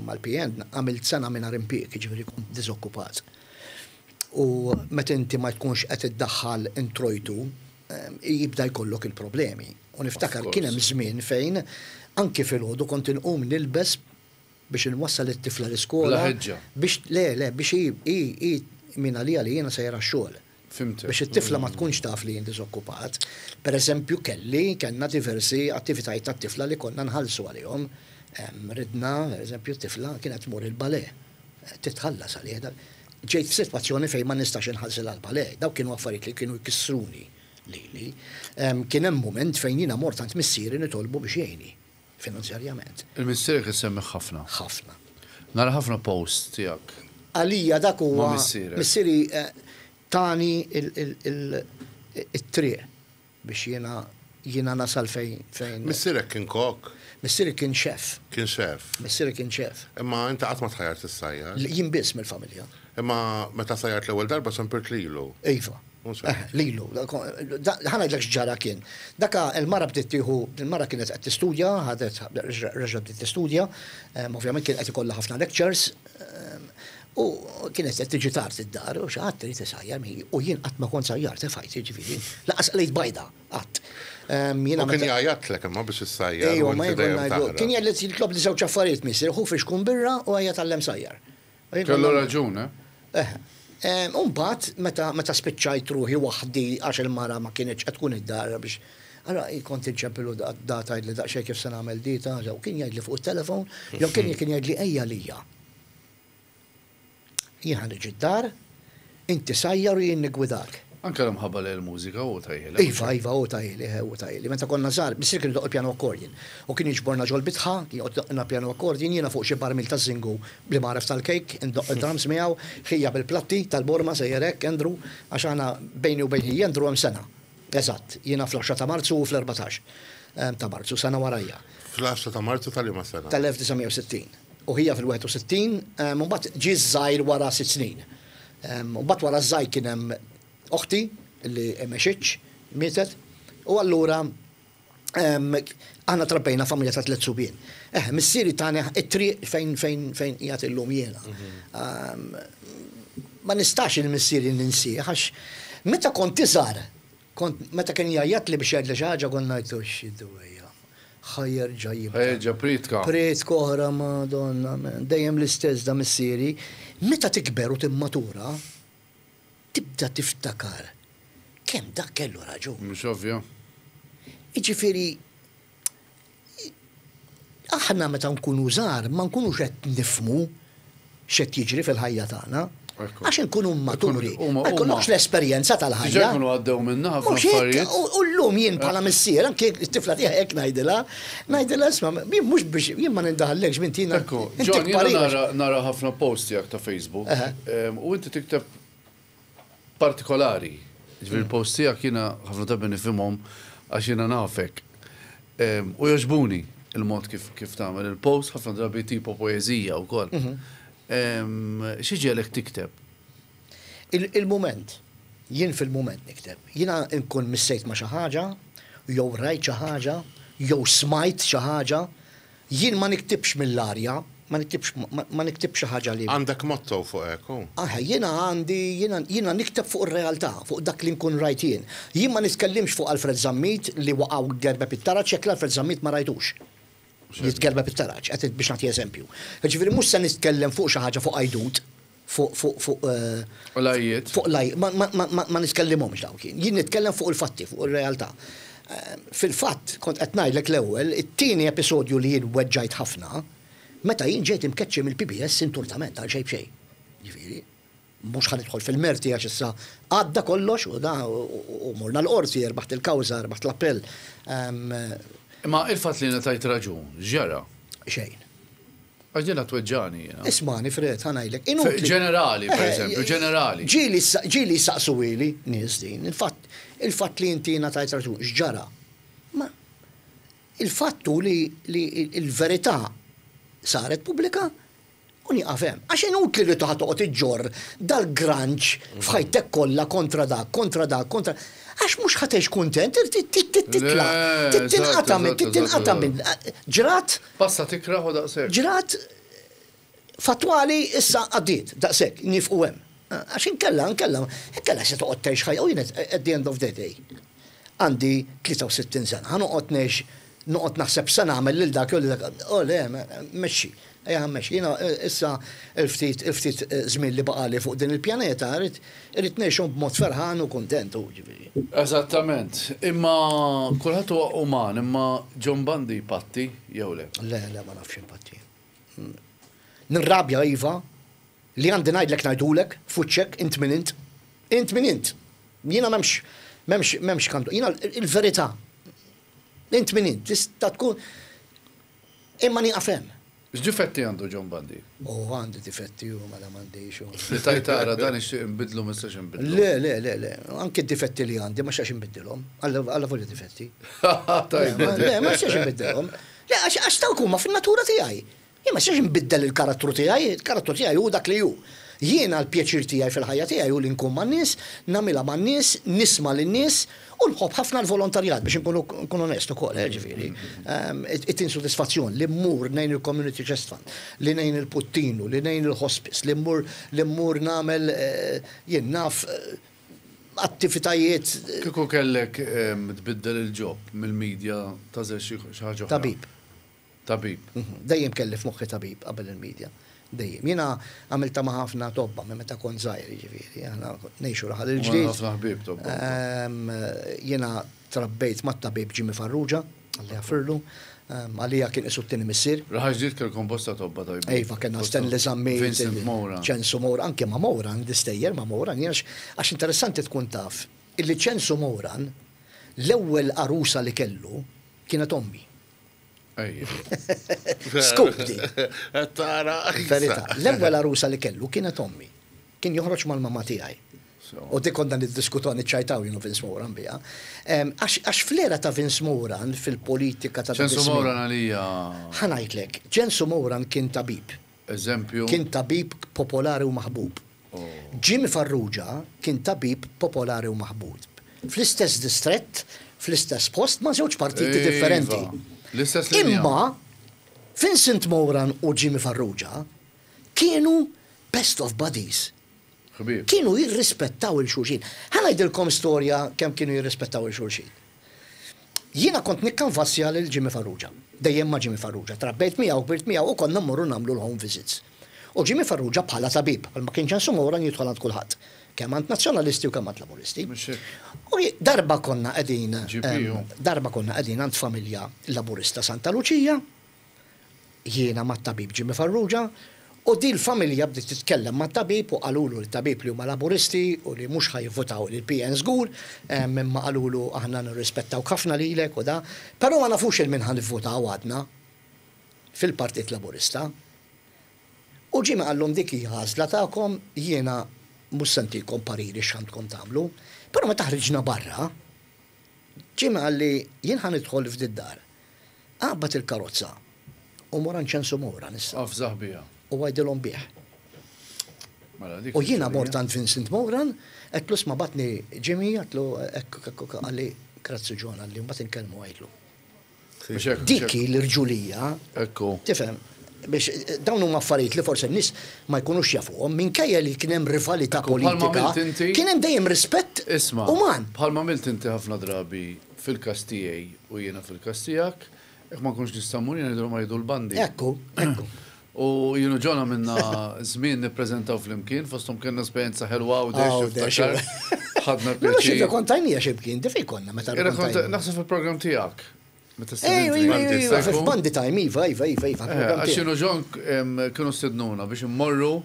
S3: mal-P N, għamilt sena mingħajr impjieg, jiġifieri kont diżokkupat. U meta inti ma tkunx qed iddaħħal introjtu, jibda jkollok il-problemi. U niftakar kien hemm żmien fejn anki filgħodu kont inqum nilbes biex inwassal it-tifla l-iskola. Biex le, le, biex i min għalija li jiena sejra xogħol. Biex it-tifla ma tkunx taf li jien diżokkupat. Per eżempju, kelli, kellna diversi attivitajiet tat-tifla li konna nħallsu għalihom. Ridna, per eżempju, t-tifla kienet tmur il-ballet. Titħallas għalih. Ġejt f'sitwazzjoni fejn ma nistax inħallsilha l-ballet. Dawk kienu affarijiet li kienu jkissruni lili. Kien hemm moment fejn jiena mort għand missieri nitolbu biex jgħinni finanzjarjament.
S1: Il-missierek issemmi ħafna.
S3: Ħafna.
S1: Nara ħafna post tiegħek.
S3: Għalija dak huwa missieri eh, tani il-triq biex jiena jiena nasal fejn fejn.
S2: Missierek kien kok?
S3: Missieri kien chef.
S2: Kien chef.
S3: Missieri kien chef.
S2: Imma inti qatt ma tħajjart issajjar?
S3: Jien biss mill-familja.
S2: Imma meta sajjart l-ewwel darba sempirt lilu.
S3: Iva. Eh, lilu, ħa ngħidlek x'ġara kien. Daka il-mara bdiet tieħu, il-mara kienet qed tistudja, ħadet reġa' bdiet tistudja, ovvjament kien qed ikollha ħafna lectures, u kienet qed tiġi tard id-dar u xi ħadd irid isajjar u jien qatt ma kont sajjar tefajt, jiġifieri, lanqas qlejt bajda qatt.
S2: Kien jgħajjatlek imma biex issajjar.
S3: Ejwa, ma kien jgħid jitlob li żewġ affarijiet missier, ħu fixkun birra u ejja tgħallem sajjar.
S1: Kellu raġun, eh?
S3: Eh. Umbagħad, meta, meta spiċċajt ruħi waħdi għax il-mara ma kienx qed tkun id-dar biex Allora, kont inċempilu data li daqsxejn kif se nagħmel dita, jew kien jgħidli fuq it-telefon, jew kien kien jgħidli ejja lija. Jien ħa niġi d-dar, inti sajjar u jien nigwidak.
S1: Anke l-mħabba li l-mużika u tahielek.
S3: Iva, iva, u tahieli, u tahieli. Meta konna żgħar, missier kien idoqq il-piano accordion. U kien jiġborna ġol bitħa, kien joqgħod piano accordion, jiena fuq xi barmil ta' żingu bli maref tal-kejk, indoq il-drums miegħu, ħija bil-platti tal-borma sejjer hekk, Andrew, għax aħna bejni u bejn ħija Andrew hemm sena. Eżatt, jiena fl-għaxra ta' Marzu u fl-erbatax ta' Marzu, sena warajja.
S2: Fl-għaxra ta' Marzu tal-liema sena?
S3: Tal-elf disa' mija u sittin. U ħija fil-wieħed u sittin, u mbagħad ġie żgħir wara sitt snin. U mbagħad wara żgħir kien hemm oħti li mexitx, mietet, u allura aħna trabbejna familja ta' tliet subien. Eh, missieri tani it-triq fejn fejn fejn qiegħed illum jiena. Ma nistax il-missieri ninsih għax meta kont iżgħar, kont meta kien jgħajjat li biex jgħidli xi ħaġa kont ngħidlu x'idwejja. Ħa jerġa' jibda.
S1: Ħa jerġa' priedka.
S3: Priedka oħra, madonna, dejjem l-istess da missieri. Meta tikber u timmatura, tibda tiftakar kemm dak kellu raġun.
S1: Mhux ovvja.
S3: Iġifieri, aħna meta nkunu żgħar ma nkunux qed nifhmu x'qed jiġri fil-ħajja tagħna. Għax nkunu maturi, ma jkollokx l-esperjenza tal-ħajja.
S1: Diġà jkunu għaddew minna ħafna affarijiet.
S3: U llum jien bħala missier, anke t-tifla tiegħi hekk ngħidilha, ngħidilha isma' jien mhux biex jien ma nindaħallekx minn tina.
S1: Ekku, John, jiena nara ħafna post tiegħek ta' Facebook u inti tikteb partikolari. Ġifieri il-post tiegħek jiena ħafna drabi nifhimhom għax jiena nafek. U jogħġbuni il-mod kif kif tagħmel il-post, ħafna drabi tipo poeżija wkoll. Xi ġiegħlek tikteb?
S3: Il-moment, jien fil-moment nikteb. Jiena nkun missejt ma' xi ħaġa, jew rajt xi ħaġa, jew smajt xi ħaġa, jien ma niktibx mill-arja, ma niktibx ma niktibx xi ħaġa li.
S2: Għandek motto fuq hekk?
S3: Ah, jiena għandi jiena jiena nikteb fuq ir-realtà, fuq dak li nkun rajt jien. Jien ma nitkellimx fuq Alfred Zammit li waqgħu gerbeb it-taraġ jekk l-Alfred Zammit ma rajtux. Jitgerbeb it-taraġ, qed biex nagħti eżempju. Ġifieri mhux se nitkellem fuq xi ħaġa fuq għajdut, fuq fuq fuq eh,
S1: Lajjiet.
S3: Fuq laj, ma, ma, ma, ma nitkellimhomx dawk jien. Jien nitkellem fuq il-fatti, fuq ir-realtà. Eh, Fil-fatt, kont qed ngħidlek l-ewwel, it-tieni episodju li jien weġġajt ħafna, meta jien ġejt imkeċċi mill-P B S inturtament għal xejn b'xejn. Ġifieri, mhux ħa nidħol fil-merti għax issa għadda kollox u da u morna l-qorti, rbaħt il-kawża, rbaħt l-appell.
S1: Imma il-fatt li ngħatajt raġun, ġara?
S3: Xejn.
S1: Għax jiena tweġġagħni jiena.
S3: Ismagħni, Fred, ħa ngħidlek. Inutli.
S1: Ġenerali, per
S3: Eh,
S1: eżempju, ġenerali.
S3: Ġieli ġieli saqsuhieli nies din. Il-fatt il-fatt li inti ngħatajt raġun, x'ġara? Ma il-fattu li, li il-verità saret pubblika U nieqaf hemm. Għax inutli li toħod toqgħod iġġorr dal-granċ f'ħajtek kollha kontra dak, kontra dak, kontra. Għax mhux ħa tgħix kuntent, titla', tinqata' minn, tinqata' minn. Ġrat.
S1: Passa tikraħ u daqshekk.
S3: Ġrat fatwali issa għaddiet, daqshekk, nieqfu hemm. Għax inkella, inkella, inkella se toqgħod tgħix ħajja, u jien at the end of the day. Għandi tlieta u sittin sena, ħa noqgħod ngħix, noqgħod naħseb se nagħmel lil dak jew lil dak. Oh le, mexxi. Ejja mexxi. Jiena issa il-ftit il-ftit żmien li baqali fuq din il-pjaneta irrid irrid ngħixhom b'mod ferħan u kuntent u ġifieri.
S1: Eżattament. Imma kulħadd huwa uman, imma John Bundy patti jew le?
S3: Le, le, ma nafx impatti. Nirrabja iva, li għandi ngħidlek ngħidulek, fuċċek, int min int. Int min int. Jiena m'hemmx, m'hemmx, m'hemmx kantu. Jiena il-verità. Int min int, tista' tkun imma nieqaf hemm.
S1: X'difetti għandu John Bundy?
S3: Oh, għandu difetti u mela m'għandix.
S1: Li tajtara dan ixtieq inbidlu ma nistax inbidlu.
S3: Le, le, le, le. Anke d-difetti li għandi ma xax inbiddilhom. Alla volja difetti.
S1: Tajba.
S3: Le, ma xax inbiddilhom. Le, għax dawk huma fin-natura tiegħi. Jien ma xax inbiddel il-karattru tiegħi, il-karattru tiegħi hu dak li hu. Jiena l-pjaċir tiegħi fil-ħajja tiegħi hu li nkun man-nies, nagħmilha man-nies, nisma' lin-nies u nħobb ħafna l-volontarjat biex nkunu nkun onest ukoll, eh, ġifieri. It-tin sodisfazzjon li mmur ngħin il-Community Chest Fund, li ngħin il-Puttinu, li ngħin il-Hospice, li mmur li mmur nagħmel jien naf attivitajiet.
S1: Kieku kellek tbiddel il-job mill-media tażel xi ħaġa oħra?
S3: Tabib.
S1: Tabib.
S3: Dejjem kelli f'moħħi tabib qabel il-media. Dejjem. Jiena għamilta ma' ħafna tobba minn meta kont żgħir, jiġifieri, aħna ngħixu raħal il-ġdid.
S1: Ħafna ħbieb tobba.
S3: Jiena trabbejt mat-tabib Jimmy Farrugia, Alla jafirlu. Għalija kien isu t-tieni missier.
S1: Raħal ġdid kellkom bosta tobba tajbin.
S3: Iva, kellna Stanley Zammit,
S1: Vincent Moran.
S3: Ċensu Moran, anke ma' Moran, distejjer ma' Moran, għax interessanti tkun taf illi Ċensu Moran l-ewwel arusa li kellu kienet ommi. Scoop di.
S2: Tara.
S3: Verità. L-ewwel arusa li kellu kienet ommi. Kien joħroġ mal-mamma tiegħi. U dik konna niddiskutu niċċajtaw jienu Vince Moran biha. Għax fl-era ta' Vince Moran fil-politika ta'
S1: Ċensu Moran għalija.
S3: Ħa ngħidlek, Ċensu Moran kien tabib.
S1: Eżempju.
S3: Kien tabib popolari u maħbub. Jimmy Farrugia kien tabib popolari u maħbub. Fl-istess distrett, fl-istess post, ma' żewġ partiti differenti.
S1: L-istess linja.
S3: Imma Vincent Moran u Jimmy Farrugia kienu best of buddies.
S1: Ħbieb.
S3: Kienu jirrispettaw il-xulxin. Ħa ngħidilkom storja kemm kienu jirrispettaw il-xulxin. Jiena kont nikkanvassja lil Jimmy Farrugia. Dejjem ma' Jimmy Farrugia. Trabbejt miegħu, kbirt miegħu u konna mmorru nagħmlu l-home visits. U Jimmy Farrugia bħala tabib, għal ma kienx Ċensu Moran jidħol għand kulħadd. Kemm għand nazzjonalisti u kemm għand laburisti. U darba konna qegħdin, darba konna qegħdin għand familja laburista Santa Luċija, jiena mat-tabib Jimmy Farrugia, u di l-familja bdiet titkellem mat-tabib u qalulu l-tabib li huma laburisti u li mhux ħajvotaw lil P N żgur, imma qalulu aħna nirrispettaw ħafna lilek u da, però ma nafux il min ħa nivvotaw għadna fil-Partit Laburista. U Jimmy qallhom dik hija għażla tagħkom, jiena mhux se ntikom pariri x'għandkom tagħmlu, però meta ħriġna barra, Jimmy qalli jien ħa nidħol f'did dar. Aqbad il-karozza u mor għand Ċensu Moran issa.
S1: Afżaħ biha.
S3: U għajdilhom bih.
S1: Mela, dik
S3: U jiena
S1: il-ġurnata.
S3: mort għand Vincent Moran, għedtlu sma batni Jimmy, għedtlu ekk, ekk, ekk, qalli grazzi John, qalli mbagħad inkellmu għajdlu.
S1: Biex hekk,
S3: Dik
S1: biex hekk.
S3: l-irġulija.
S1: Ekku.
S3: Tifhem, biex dawn huma affarijiet li forsi n-nies ma jkunux jafuhom, minkejja li kien hemm rivalità
S1: Ekku, bħalma
S3: politika,
S1: għamilt inti-
S3: kien hemm dejjem rispett
S1: Isma',
S3: uman.
S1: Bħalma għamilt inti ħafna drabi fil-każ tiegħi u jiena fil-każ tiegħek, jekk ma nkunx nista' mmur jiena ngħidulhom jgħidu l-bandi.
S3: Ekku, ekku.
S1: U jienu ġona minna żmien nippreżentaw flimkien, fosthom kellna esperjenza ħelwa u dex,
S3: Aw, dex,
S1: tiftakar. Ħadna
S3: Ma nafx
S1: pjaċir.
S3: irrakontajnija xi bkien, di fejn konna meta
S1: Irrakonta-
S3: rrakkontajnija?
S1: Naħseb fil-programm tiegħek. Meta
S3: Ej,
S1: stedintni.
S3: ej, ej, ej,
S1: Ekku.
S3: f'Bandi Time, iva, iva, iva, iva,
S1: Eh,
S3: fil-programm
S1: Għax
S3: tiegħek.
S1: jienu ġon, em, kienu stednuna biex immorru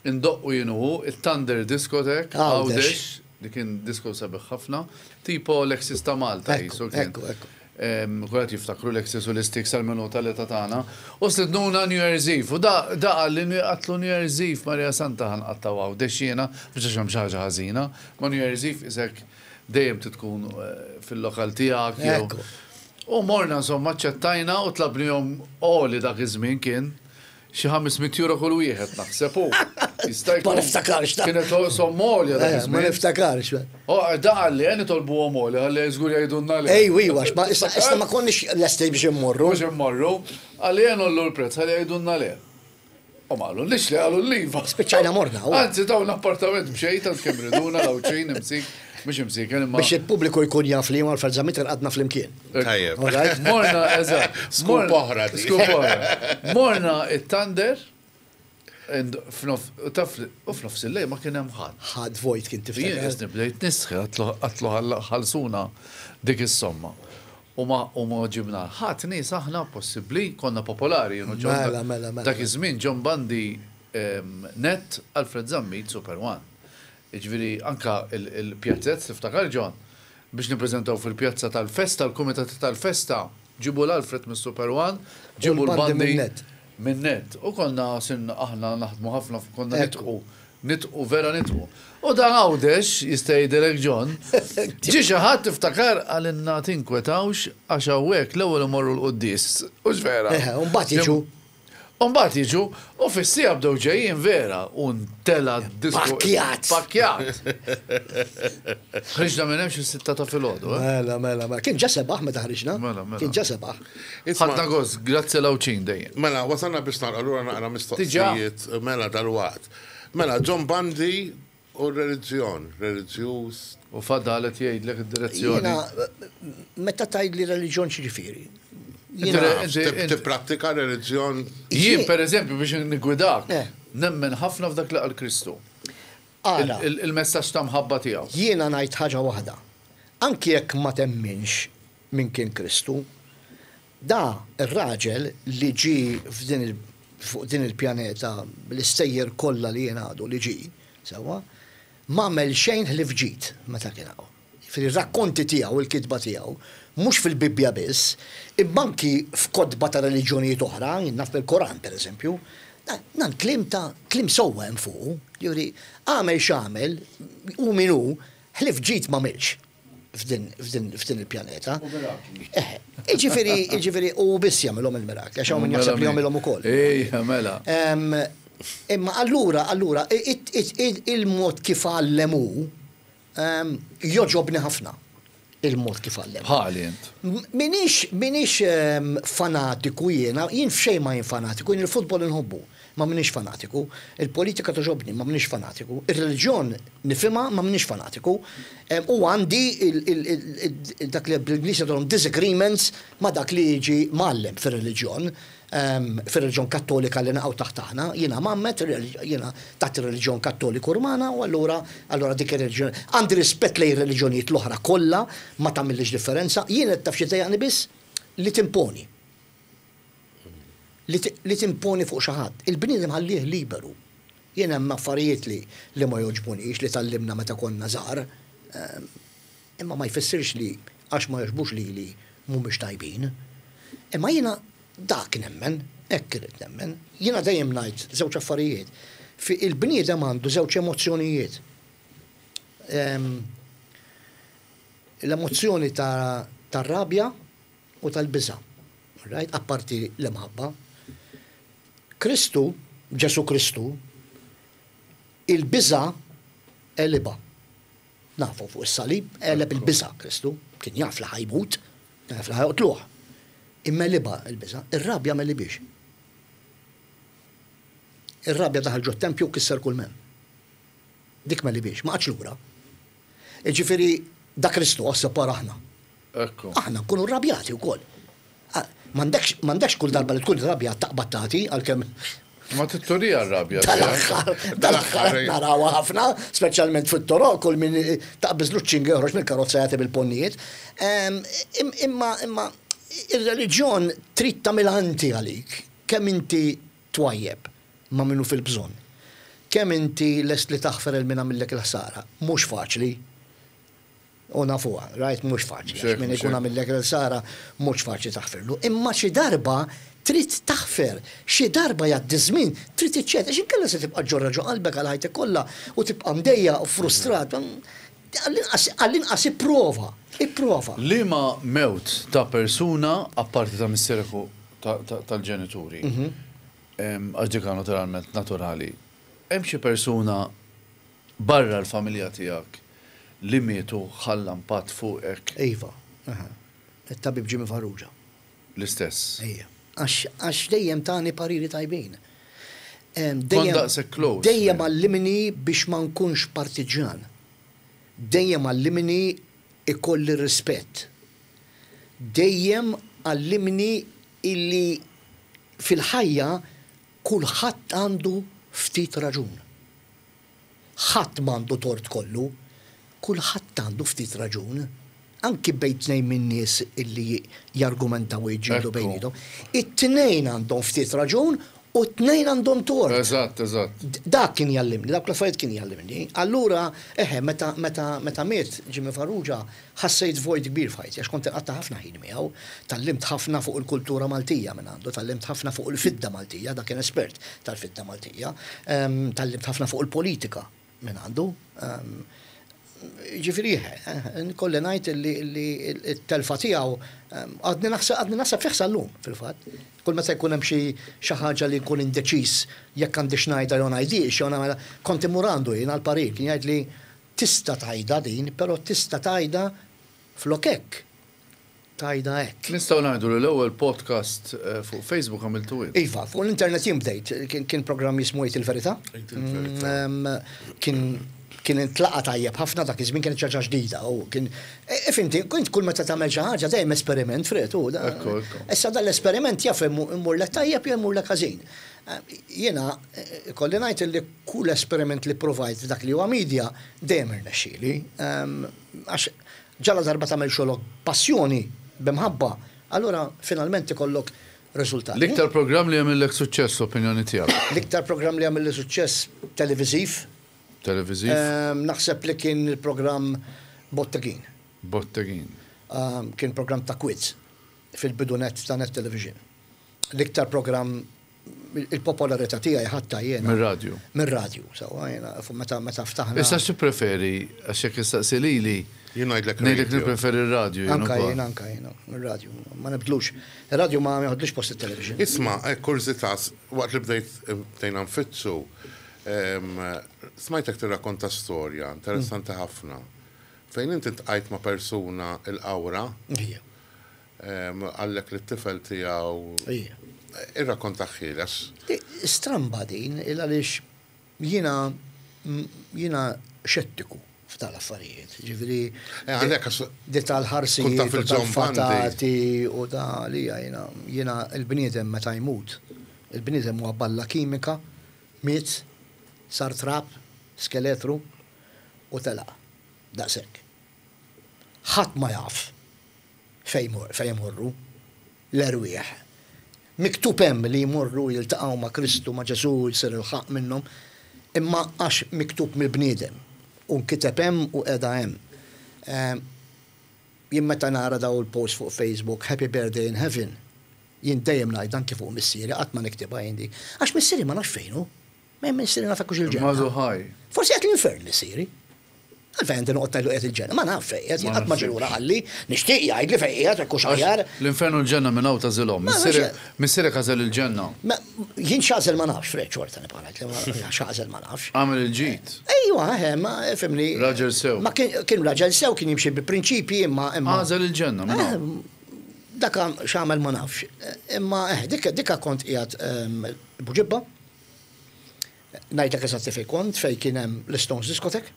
S1: indoqqu jienu hu il-Thunder Discotheque,
S3: Għawdex.
S1: Għawdex, li kien disco sabiħ ħafna, tipo Lexis ta' Malta,
S3: Ekku,
S1: jisu kien.
S3: ekku, ekku.
S1: Em, Kulħadd jiftakru Lexis u l-Istix għal-minuta li ta' tagħna. U stednuna New Year's Eve. U da, da qalli New-, qatlu New Year's Eve, Maria Santa ħanqattaw Għawdex jiena, biex għax hemm xi ħaġa ħażina. Ma New Year's Eve isek dejjem titkun, eh, fil-lokal tiegħek jew
S3: Ekku.
S1: U morna insomma ċettajna u tlabnihom oli dak iż-żmien kien Xi ħames mitt euro kull wieħed naħseb hu. Jista' jkun.
S3: Ma niftakarx ta'.
S1: Kienet somma għolja dak
S3: Eh, Ma
S1: iż-żmien.
S3: niftakarx.
S1: Oh, da qalli, eh, nitolbu għom għolja, qalli żgur jgħidulna le.
S3: Ej, wi, għax, ma issa issa ma konniex lesti biex immorru.
S1: Mhux immorru, qalli jen ngħollu l-prezz, qalli jgħidulna le. U ma qallu, lix li qalu l-iva.
S3: Spiċċajna morna, u.
S1: Anzi, dawn l-appartament b'xejn, tant kemm riduna, l-Għawdxin, imsik, mhux imsik, imma.
S3: Biex il-pubbliku jkun jaf li Alfred Zammit għadna flimkien.
S2: Tajjeb.
S3: All right?
S1: Morna, eżatt.
S2: Scoop
S1: Morna-
S2: oħra di.
S1: Scoop oħra. Morna it-Thunder, and f'nof- taf u f'nofs il-lejl ma kien hemm ħadd.
S3: Ħadd vojt kien
S1: Jien
S3: tiftakar.
S1: qisni bdejt nistħi, għedtlu ħallsuna dik is-somma. U ma u ma ġibna ħadd nies aħna possibbli konna popolari. you know, John-
S3: Mela, mela, mela.
S1: Dak iż-żmien John Bundy em, Net, Alfred Zammit, Super One. Jiġifieri anka il-pjazzett, tiftakar John, biex nippreżentaw fil-pjazza tal-festa, l-kumitat tal-festa, ġibu l-Alfred mis Super One, ġibu
S3: U l-Bundy
S1: l-Bundy
S3: minn Net.
S1: minn Net. U konna sin aħna naħdmu ħafna, konna
S3: Ekku.
S1: nitqu, nitqu, vera nitqu. U dan Għawdex, jista' jgħidilek John, ġi xi ħadd tiftakar għalinna tinkwetawx għax hawnhekk l-ewwel imorru l-quddies. Hux vera?
S3: Eħe, u mbagħad jiġu.
S1: U mbagħad jiġu, u fis-siegħa bdew ġejjin vera, u ntela disko.
S3: Pakkjat.
S1: Pakkjat. Ħriġna minn hemm xi sitta ta' filgħodu, eh?
S3: Mela, mela, mela. Kien ġa sebaħ meta ħriġna.
S1: Mela, mela.
S3: Kien ġa sebaħ.
S2: Isma'
S1: Ħadna gost, grazzi l-Għawdxin dejjem.
S2: Mela, wasalna biex nagħlqu, allura naqra mistoqsijiet, mela dal-waqt. Mela, John Bundy u reliġjon, reliġjuż.
S1: U fadalet jgħidlek id-direzzjoni.
S3: Jiena, meta tgħid li reliġjon x'jiġifieri?
S1: Inti-
S3: Jiena,
S1: inti-
S2: Tipprattika reliġjon.
S1: Jien, per eżempju, biex nigwidak,
S3: Eh.
S1: nemmen ħafna f'dak li qal Kristu.
S3: Ara,
S1: Il- il- Il-messaġġ ta' mħabba tiegħu.
S3: jiena ngħid ħaġa waħda. Anki jekk ma temminx min kien Kristu, da ir-raġel li ġi f'din il- fuq din il-pjaneta bl-istejjer kollha li jien għadu li ġi, sewwa, m'għamel xejn ħlief ġid meta kien hawn. Fil-rakkonti tiegħu, il-kitba tiegħu, mhux fil-Bibbja biss, imma anki f'kotba ta' reliġjonijiet oħra, jien naf bil-Koran pereżempju, dan kliem ta' kliem sewwa hemm fuq, jiġifieri għamel x'għamel u min hu ħlief ġid m'għamilx f'din f'din f'din il-pjaneta. Eh, Jiġifieri, jiġifieri u biss jagħmilhom il-mirakli, għax hawn min jaħseb li jagħmilhom ukoll.
S1: Ejja, mela.
S3: Em, Imma allura, allura, it- it- it- il-mod kif għallem hu, em, jogħġobni ħafna. Il-mod kif għallem.
S1: Bħali int.
S3: Minix, minix em, fanatiku jiena, jien f'xejn ma jien fanatiku, jien il-futbol inħobbu, ma minix fanatiku, il-politika togħġobni, ma minix fanatiku, il-reliġjon nifhimha, ma minix fanatiku, Em, u għandi il- il- il- il- dak li bl-Ingliż jgħidulhom disagreements ma dak li jiġi mgħallem fir-reliġjon, em, fir-reliġjon kattolika li naqgħu taħt aħna, jiena mammet, jiena taħt ir-reliġjon kattoliku rumana, u allura allura dik ir-reliġjon għandi rispett lejn ir-reliġjonijiet l-oħra kollha, ma tagħmilx differenza, jien qed taf xi tdejjaqni biss li timponi. Li ti- li timponi fuq xi ħadd. Il-bniedem ħallih liberu. Jien hemm affarijiet li li ma jogħġbunix li tgħallimna meta konna żgħar, ehm, imma ma jfissirx li għax ma jogħġbux li li mhumiex tajbin. Imma jiena dak nemmen, hekk irid nemmen. Jiena dejjem ngħid żewġ affarijiet. Fi il-bniedem għandu żewġ emozzjonijiet. Ehm, L-emozzjoni ta' tar-rabja u tal-biża'. Right? Apparti l-imħabba. Kristu, Ġesu Kristu, il-biża' għelibha. Nafu fuq is-salib, għeleb il-biża' Kristu, kien jaf li ħa jmut, jaf li ħa joqtluh. Imma għelibha il-biża', ir-rabja m'għelibhiex. Ir-rabja daħal ġo tempju u kisser kull m'hemm. Dik m'għelibhiex, ma qagħadx lura. Ġifieri, da Kristu għas separa aħna.
S1: Ekku.
S3: Aħna nkunu rrabjati wkoll. Ah, M'għandekx m'għandekx kull darba li tkun rrabjat taqbad tagħti għalkemm
S1: Ma titturija r-rabja.
S3: dal-aħħar, dal-aħħar narawha ħafna, speċjalment fit-toroq, kull min taqbiż ċinga joħroġ mill-karozza jagħti bil-ponnijiet. Em, im- Imma imma ir-reliġjon trid tagħmilha inti għalik, kemm inti twajjeb ma' minnu fil-bżonn. Kemm inti lest li taħfer lil min għamillek il-ħsara. Mhux faċli. U nafuha, right, mhux faċli.
S1: Xek,
S3: Għax min ikun
S1: xek.
S3: għamillek il-ħsara mhux faċli taħferlu. Imma xi darba trid taħfer, xi darba jgħaddi żmien trid iċċed, għax inkella se tibqa' ġorra ġo qalbek għal ħajtek kollha u tibqa' mdejja u frustrat. Għall-inqas għall-inqas ipprova, ipprova.
S1: Liema mewt ta' persuna, apparti ta' missierek u ta- ta- tal-ġenituri,
S3: Mhm.
S1: Għax dik naturalment naturali. Hemm xi persuna barra l-familja tiegħek li mietu ħalla impatt fuqek?
S3: Iva, aha. Il-tabib Jimmy Farrugia.
S1: L-istess.
S3: Ejja. Għax għax dejjem tani pariri tajbin. Em,
S1: Kont daqshekk close,
S3: Dejjem
S1: man.
S3: għallimni biex ma nkunx partiġan. Dejjem għallimni ikolli rispett. Dejjem għallimni illi fil-ħajja kulħadd għandu ftit raġun. Ħadd m'għandu tort kollu, kulħadd għandu ftit raġun. Anki bejn tnejn minn nies illi jargumentaw u jġildu
S1: Ekku.
S3: bejniethom. It-tnejn għandhom ftit raġun u t-tnejn għandhom tort.
S1: Eżatt, eżatt.
S3: D- Dak kien jallimni, dak l-affarijiet kien jallimni. Allura, eħe, meta, meta, meta miet Jimmy Farrugia, ħassejt vojt kbir f'ħajti, għax kont inqatta' ħafna ħin miegħu, tgħallimt ħafna fuq il-kultura Maltija minn għandu, tgħallimt ħafna fuq il-fidda Maltija, dak kien espert tal-fidda Maltija, em, tgħallimt ħafna fuq il-politika minn għandu. Em, Ġifieri, eh, nkolli ngħid li li t-telfa tiegħu em, għadni naħseb għadni naħseb fih sal-lum fil-fatt. Kull meta jkun hemm xi xi ħaġa li nkun indeċiż jekk għandix ngħidha jew ngħidix, jew nagħmel kont immur għandu jien għall-parir, kien jgħid li tista' tgħidha din, però tista' tgħidha flok hekk. Tgħidha hekk.
S1: Nistgħu ngħidu li l-ewwel podcast eh, fuq Facebook għamiltu int.
S3: Iva, fuq l-internet jien bdejt, kien, kien programm jismu Għid il-Verità.
S2: Għid il-Verità.
S3: Mm, Kien kien intlaqa tajjeb ħafna dak iż-żmien kienet xi ħaġa ġdida u kien e, fimti, kont kull meta tagħmel xi ħaġa dejjem esperiment Fred u da-
S1: Ekku, ekku.
S3: Issa dan l-esperiment jaf imur lek tajjeb jew imur lek ħażin. Eh, Jiena eh, kolli ngħid li kull esperiment li provajt f'dak li huwa media dejjem irnexxieli. Ehm, Għax ġala darba tagħmel xogħlok passjoni b'imħabba, allura finalment ikollok riżultat.
S1: L-iktar programm li għamillek suċċess, opinjoni tiegħek.
S3: L-iktar programm li għamilli suċċess televiżiv,
S1: Televiżiv,
S3: ehm, naħseb li kien il-programm Bottegin.
S1: Bottegin.
S3: Ehm, Kien programm ta' quiz fil-bidunet ta' Net Television. L-iktar programm il-popolarità tiegħi ħatta jiena.
S1: Mir-radju.
S3: Mir-radju, sewwa jiena fu- meta meta ftaħna.
S1: Issa xi preferi, għax jekk istaqsi lili,
S2: Jien ngħidlek
S1: ngħidlek
S2: radio.
S1: nippreferi r-radju. jien
S3: Anka
S1: ukoll.
S3: jien, anka jien, mir-radju. Ma nibdlux. Ir-radju ma joħodlix post il-television.
S2: Isma, eh, kurżità, waqt li bdejt bdejna nfittxu, em, smajtek tirrakkonta storja interessanti ħafna. Fejn inti ltqajt ma' persuna il-Qawra,
S3: Ija,
S2: em, qallek li t-tifel tiegħu
S3: ija.
S2: irrakkonta ħieles.
S3: Di- Stramba din, il għaliex jiena jiena xettiku f'tal affarijiet. Ġifieri
S2: Eh, għalhekk għax
S3: di tal-ħarsijiet
S2: Kont taf
S3: u
S2: il-John Bundy.
S3: tal-fatati u da li jiena jiena il-bniedem meta jmut. Il-bniedem huwa balla kimika, miet, sar trab, skeletru u telaq. Daqshekk. Ħadd ma jaf fejn mor- fejn jmorru l-erwieħ. Miktub hemm li jmorru jiltaqgħu ma' Kristu, ma' Ġesù, jsir il-ħaq minnhom, imma għax miktub mill-bniedem u nkiteb hemm u qiegħda hemm. Ehm, Jien meta nara daw il-post fuq Facebook, "Happy Birthday in Heaven", jien dejjem ngħid anke fuq missieri, qatt ma niktibha jien di. Għax missieri ma nafx fejn hu. Ma missieri naf hux il-ġenna.
S1: Mażu ħaj.
S3: Forsi qed l-infern missieri. Għalfejn għandi noqgħod ngħidlu qiegħed il-ġenna, ma naf fejn qiegħed,
S1: Ma
S3: qatt ma
S1: nafx.
S3: ġie lura qalli, nixtieq jgħid li fejn qiegħed hekk hux aħjar.
S1: L-infernu l-ġenna minn hawn tagħżilhom.
S3: Ma nafx.
S1: Missierek għażel il-ġenna.
S3: Ma jien x'għażel ma nafx, Fred xorta nibqa' ngħid li x'għażel ma nafx.
S1: Għamel il-ġid.
S3: Ejwa, eh, ma fimni.
S1: Raġel sew.
S3: Ma kien kien raġel sew, kien jimxi bi prinċipji imma imma.
S1: Għażel il-ġenna minn hawn.
S3: Eh, Daka x'għamel ma nafx. Imma eh, dika dika kont qiegħed ehm, Buġibba. Ngħidlek eżatti fejn kont, fejn kien hemm l-Stones Discotheque.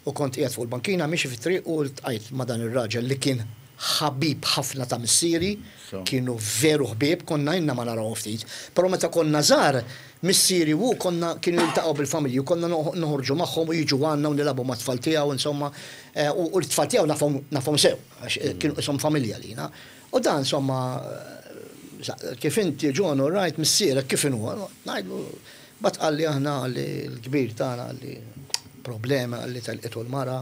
S3: U kont qiegħed fuq il-bankina miexi fit-triq u ltqajt ma' dan ir-raġel li kien ħabib ħafna ta' missieri,
S1: So.
S3: kienu veru ħbieb, konna inna ma naraw ftit. Però meta konna żgħar, missieri u konna kienu jiltaqgħu bil-familji u konna noħ- noħorġu magħhom u jiġu għandna u nilagħbu mat-tfal tiegħu insomma, eh, u u l-tfal tiegħu nafhom nafhom sew, għax eh, kienu isom familja lina. U dan insomma, eh, sa- kif inti John, all right, missierek kif inhu? Ngħidlu, bat qalli aħna qalli l-kbir tagħna qalli problema qalli telqitu l-mara,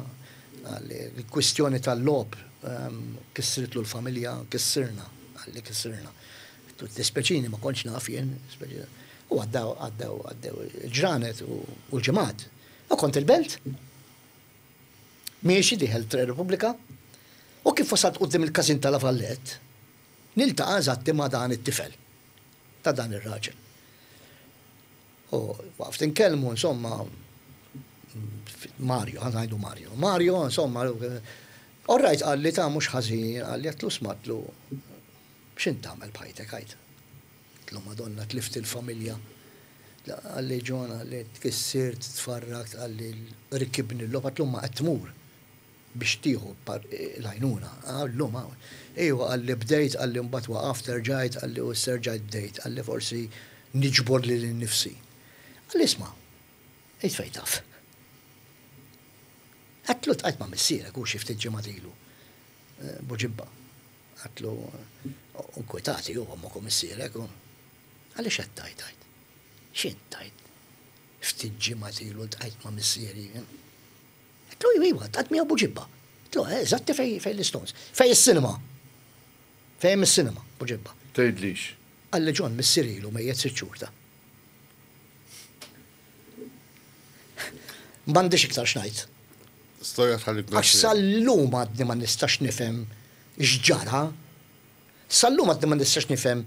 S3: qalli l-kwistjoni tal-logħob ehm, kissritlu l-familja, kissirna, qalli kissirna. Dispeċini ma kontx naf jien, dispeċini. U għaddew, għaddew, għaddew il-ġranet u u l-ġimgħat. U kont il-belt, miexi dieħel Tre Repubblika, u kif wasalt quddiem il-każin tal-Avallet, niltaqa' eżatti ma' dan it-tifel ta' dan ir-raġel. U waqft inkellmu, insomma, Mario, ħa ngħidu Mario. Mario, insomma, all right, qalli ta' mhux ħażin, qalli għedtlu smatlu, x'int tagħmel b'ħajtek għajt? Għedtlu Madonna tlift il-familja. Qalli John, qalli tkissirt, tfarrakt, qalli rikibni l-logħob, għedtlu ma qed tmur biex tieħu l-għajnuna. Għallu ma. Ejwa qalli bdejt, qalli mbagħad waqaft erġajt, qalli u serġajt bdejt, qalli forsi niġbor lili nnifsi. Qalli isma', ejt fejn taf. Għedtlu ltqajt ma' missierek u xi ftit ġimgħat ilu. Buġibba. Għedtlu inkwetati u ommok u missierek. Għalli x'qed tgħid għajt? X'int tgħid? Ftit ġimgħat ilu ltqajt ma' missieri. Għedtlu iva, ltqajt miegħu Buġibba. Għedtlu, eżatti fej fej l-Stones. Fej is-cinema. Fejn is-cinema, Buġibba.
S1: Tgħidlix.
S3: Qalli John missieri ilu mejjet sitt xhur ta'. M'għandix iktar x'ngħid.
S2: Storja tħallik
S3: Għax sal-lum għadni ma nistax nifhem x'ġara. Sal-lum għadni ma nistax nifhem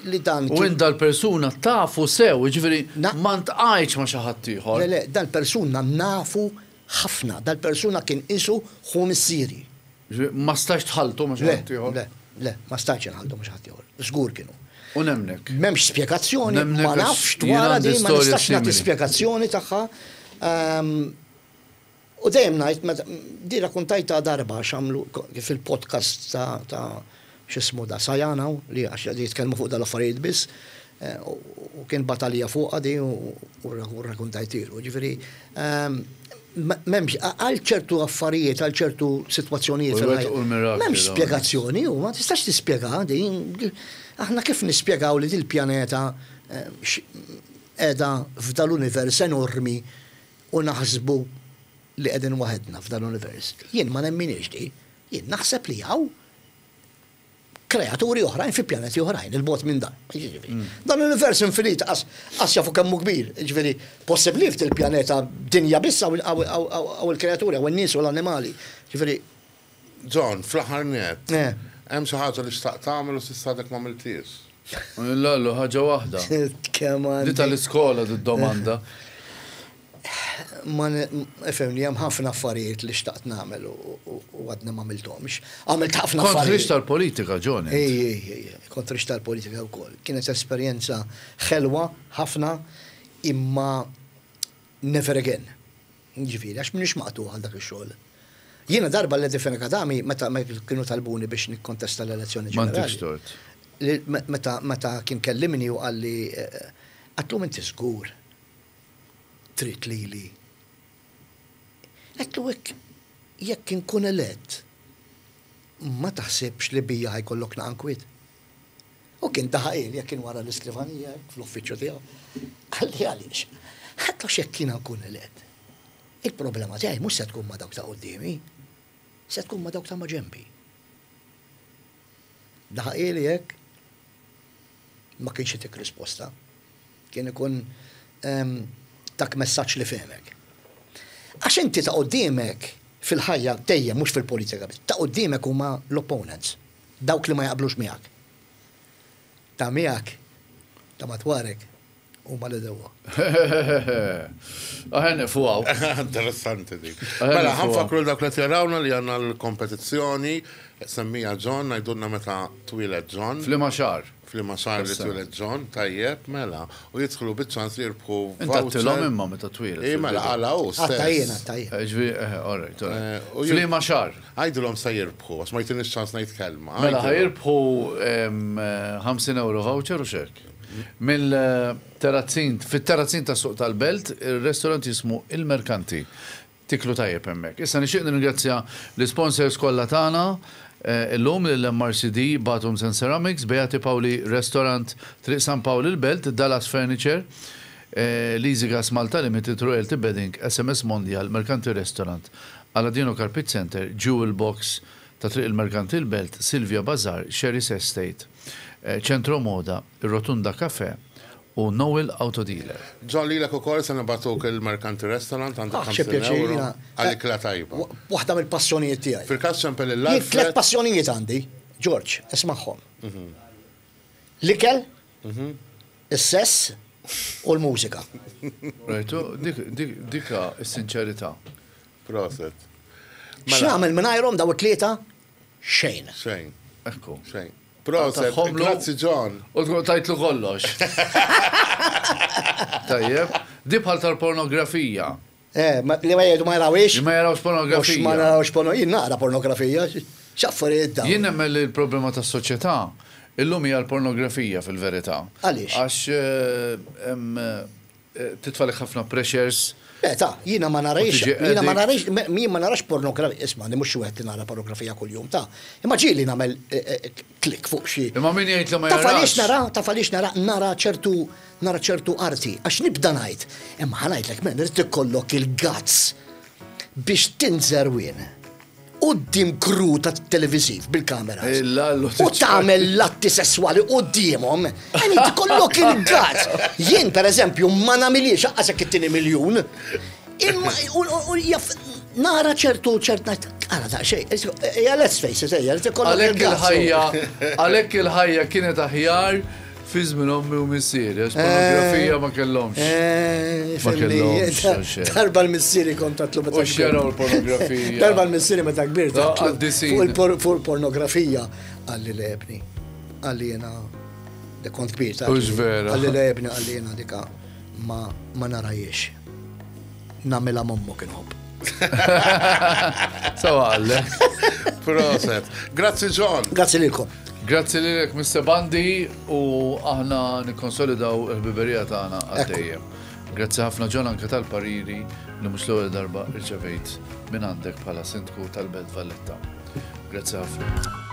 S3: li dan.
S1: U int dal-persuna tafu sew, jiġifieri ma ntqajtx ma' xi ħadd ieħor.
S3: Le, le, dal-persuna nafu ħafna, dal-persuna kien qisu ħu missieri.
S1: Ma stajtx tħalltu ma' xi ħadd ieħor?
S3: Le, le, ma stajtx inħalltu ma' xi ħadd ieħor. Żgur kienu.
S1: U nemnek.
S3: M'hemmx spjegazzjoni, ma nafx dwarha din, ma nistax nagħti spjegazzjoni tagħha. U dejjem ngħid, meta di rakkuntajtha darba x'għamlu fil-podcast ta' ta' x'ismu da Sajana li għax jitkellmu fuq dal-affarijiet biss, u kien batalija fuqha di u rrakkuntajtilu. Ġifieri, m'hemmx għal ċertu affarijiet, għal ċertu sitwazzjonijiet m'hemmx spjegazzjoni u ma tistax tispjega din. Aħna kif nispjegaw li dil-pjaneta qiegħda f'dal-univers enormi u naħsbu li qegħdin waħedna f'dal-univers. Jien ma nemminix di. Jien naħseb li hawn kreaturi oħrajn fi pjaneti oħrajn, il-bogħod minn dan. Dan l-univers infinit, qas jafu kemm hu kbir. Ġifieri, possibbli f'dil-pjaneta dinja biss hawn il-kreaturi, hawn in-nies u l-annimali. Ġifieri.
S2: John, fl-aħħar nett, hemm xi ħaġa li xtaqt tagħmel u s'issa għadek ma għamilthiex?
S1: Lallu, ħaġa waħda.
S3: Kemm
S1: Di tal-iskola d-domanda.
S3: Ma ifhimni, hemm ħafna affarijiet li xtaqt nagħmel u għadni ma għamilthomx. Għamilt ħafna
S1: Kont
S3: affarijiet.
S1: ħriġt tal-politika, John.
S3: Ej, ej, ej, kont ħriġt tal-politika wkoll. Kienet esperjenza ħelwa ħafna imma never again. Ġifieri, għax m'iniex maqtuħ għal dak ix-xogħol. Jiena darba l Fenech Adami meta kienu talbuni biex nikkontesta l-elezzjoni
S1: M'għandekx
S3: ġenerali.
S1: tort.
S3: Meta meta kien kellimni u qalli għedtlu inti żgur trid lili. Għedtlu hekk jekk inkun elett ma taħsibx li bija ħajkollok naqan kwiet. U kien daħaq jekk kien wara l-iskrivanija fl-uffiċċju tiegħu. Qalli għaliex. Għedtlu x'jekk jiena nkun elett. Il-problema tiegħi mhux se tkun ma' dawk ta' quddiemi, se tkun ma' dawk ta' ma' ġenbi. Daħaq hekk ma kienx itik risposta. Kien ikun tak messaġġ li fehmek. Għax inti ta' quddiemek fil-ħajja dejjem mhux fil-politika, ta' quddiemek huma l-opponents, dawk li ma jaqblux miegħek. Ta' miegħek, ta' madwarek, huma l-għedewwa.
S1: Aħen fuqaw.
S2: Interessanti dik. Mela, ħa nfakkru dawk li jarawna li għandna l-kompetizzjoni, semmija John, ngħidulna meta twieled John.
S1: F'liema xahar.
S2: F'liema xahar li twieled John, tajjeb, mela. U jidħlu biċ-ċans li jirbħu
S1: Inta għedtilhom imma meta twieled.
S2: Ej, mela, għala u stess.
S3: Għattajjen, għattajjen.
S1: Ġifieri, eh, all right, all right. F'liema xahar.
S2: Għidulhom se jirbħu, għax ma jtinix ċans ngħid kelma.
S1: Mela, ħa jirbħu ħamsin euro voucher u xek. Mill-terrazzin, fit-terrazzin ta' suq tal-Belt, il-restaurant jismu Il-Merkanti. Tiklu tajjeb hemmhekk. Issa nixtieq nirringrazzja l-sponsors kollha tagħna illum lill-M R C D, Bathrooms and Ceramics, Beati Paoli Restaurant, Triq San Pawl il-Belt, Dallas Furniture, Leasy Gas Malta Limited, Royalty Bedding, S M S Mondial, Mercanti Restaurant, Aladino Carpet Center, Jewel Box ta' Triq il-Merkanti il-Belt, Silvia Bazar, Sherry's Estate, Centro Moda, Rotunda Cafe u Noel Auto Dealer.
S2: John, lilek ukoll se nibagħtuk il-Mercanti Restaurant għandek
S3: Ah, xi
S2: ħamsin
S3: pjaċir,
S2: euro
S3: jiena.
S2: għal-ikla tajba.
S3: Waħda mill-passjonijiet tiegħi.
S2: Fil-każ ċempel
S3: Jien
S2: il-Alfred.
S3: tliet passjonijiet għandi, George, ismagħhom. L-ikel, is-sess U l-mużika.
S1: Rajtu, dika s-sinċerità.
S2: Proset.
S3: X'nagħmel mingħajrhom daw it-tlieta? Xejn.
S2: Xejn.
S1: Ekku.
S2: Xejn. Proset, grazzi John.
S1: U tkun tajtlu kollox. Tajjeb. Di bħal tal-pornografija.
S3: Eh, li ma jgħidu ma jarawix.
S1: Li ma jarawx pornografija.
S3: Ma jarawx pornografija. Jien naqra pornografija. X'affarijiet dawn.
S1: Jien nemmen li l-problema tas-soċjetà illum hija l-pornografija fil-verità.
S3: Għaliex?
S1: Għax titfalek ħafna pressures.
S3: Eh, ta' jiena ma narajx, jiena ma narajx, jien ma narax pornografija, isma' mhux xi wieħed li nara pornografija kuljum ta' imma ġieli nagħmel klik fuq xi.
S1: Imma min jgħid li ma jarax.
S3: Taf għaliex nara, taf għaliex nara, nara ċertu, nara ċertu arti, għax nibda ngħid, imma ħa ngħidlek men, irid ikollok il-guts biex tinżerwien quddiem crew ta' televiżiv bil-kameras. U tagħmel l-atti sesswali quddiemhom, għani tkollok il-guts. Jien pereżempju ma nagħmilix anqas jekk ittini miljun. Imma nara ċertu ċert ngħid, ara daqsxejn, ejja let's face it, ejja, ikollok il-guts.
S1: Għalhekk il-ħajja kienet aħjar fi żmien ommi u missieri, għax pornografija ma kellhomx. Ma kellhomx.
S3: Darba l-missieri kont tatlu meta.
S1: U x'jaraw l-pornografija.
S3: Darba l-missieri meta kbir tatlu fuq il-pornografija qalli le ebni. Qalli jiena kont kbir ta'.
S1: Hux vera.
S3: Qalli le ebni, qalli jiena dika ma narajiex. Nagħmilha m'ommok inħobb.
S1: Sawa għallek.
S2: Proset. Grazzi John.
S3: Grazzi lilkom.
S1: Grazzi lilek Mister Bandi u aħna nikkonsolidaw il-ħbiberija tagħna għaddejjem. Grazzi ħafna John anke tal-pariri li mhux l-ewwel darba rċevejt minn għandek bħala sindku tal-Belt Valletta. Grazzi ħafna.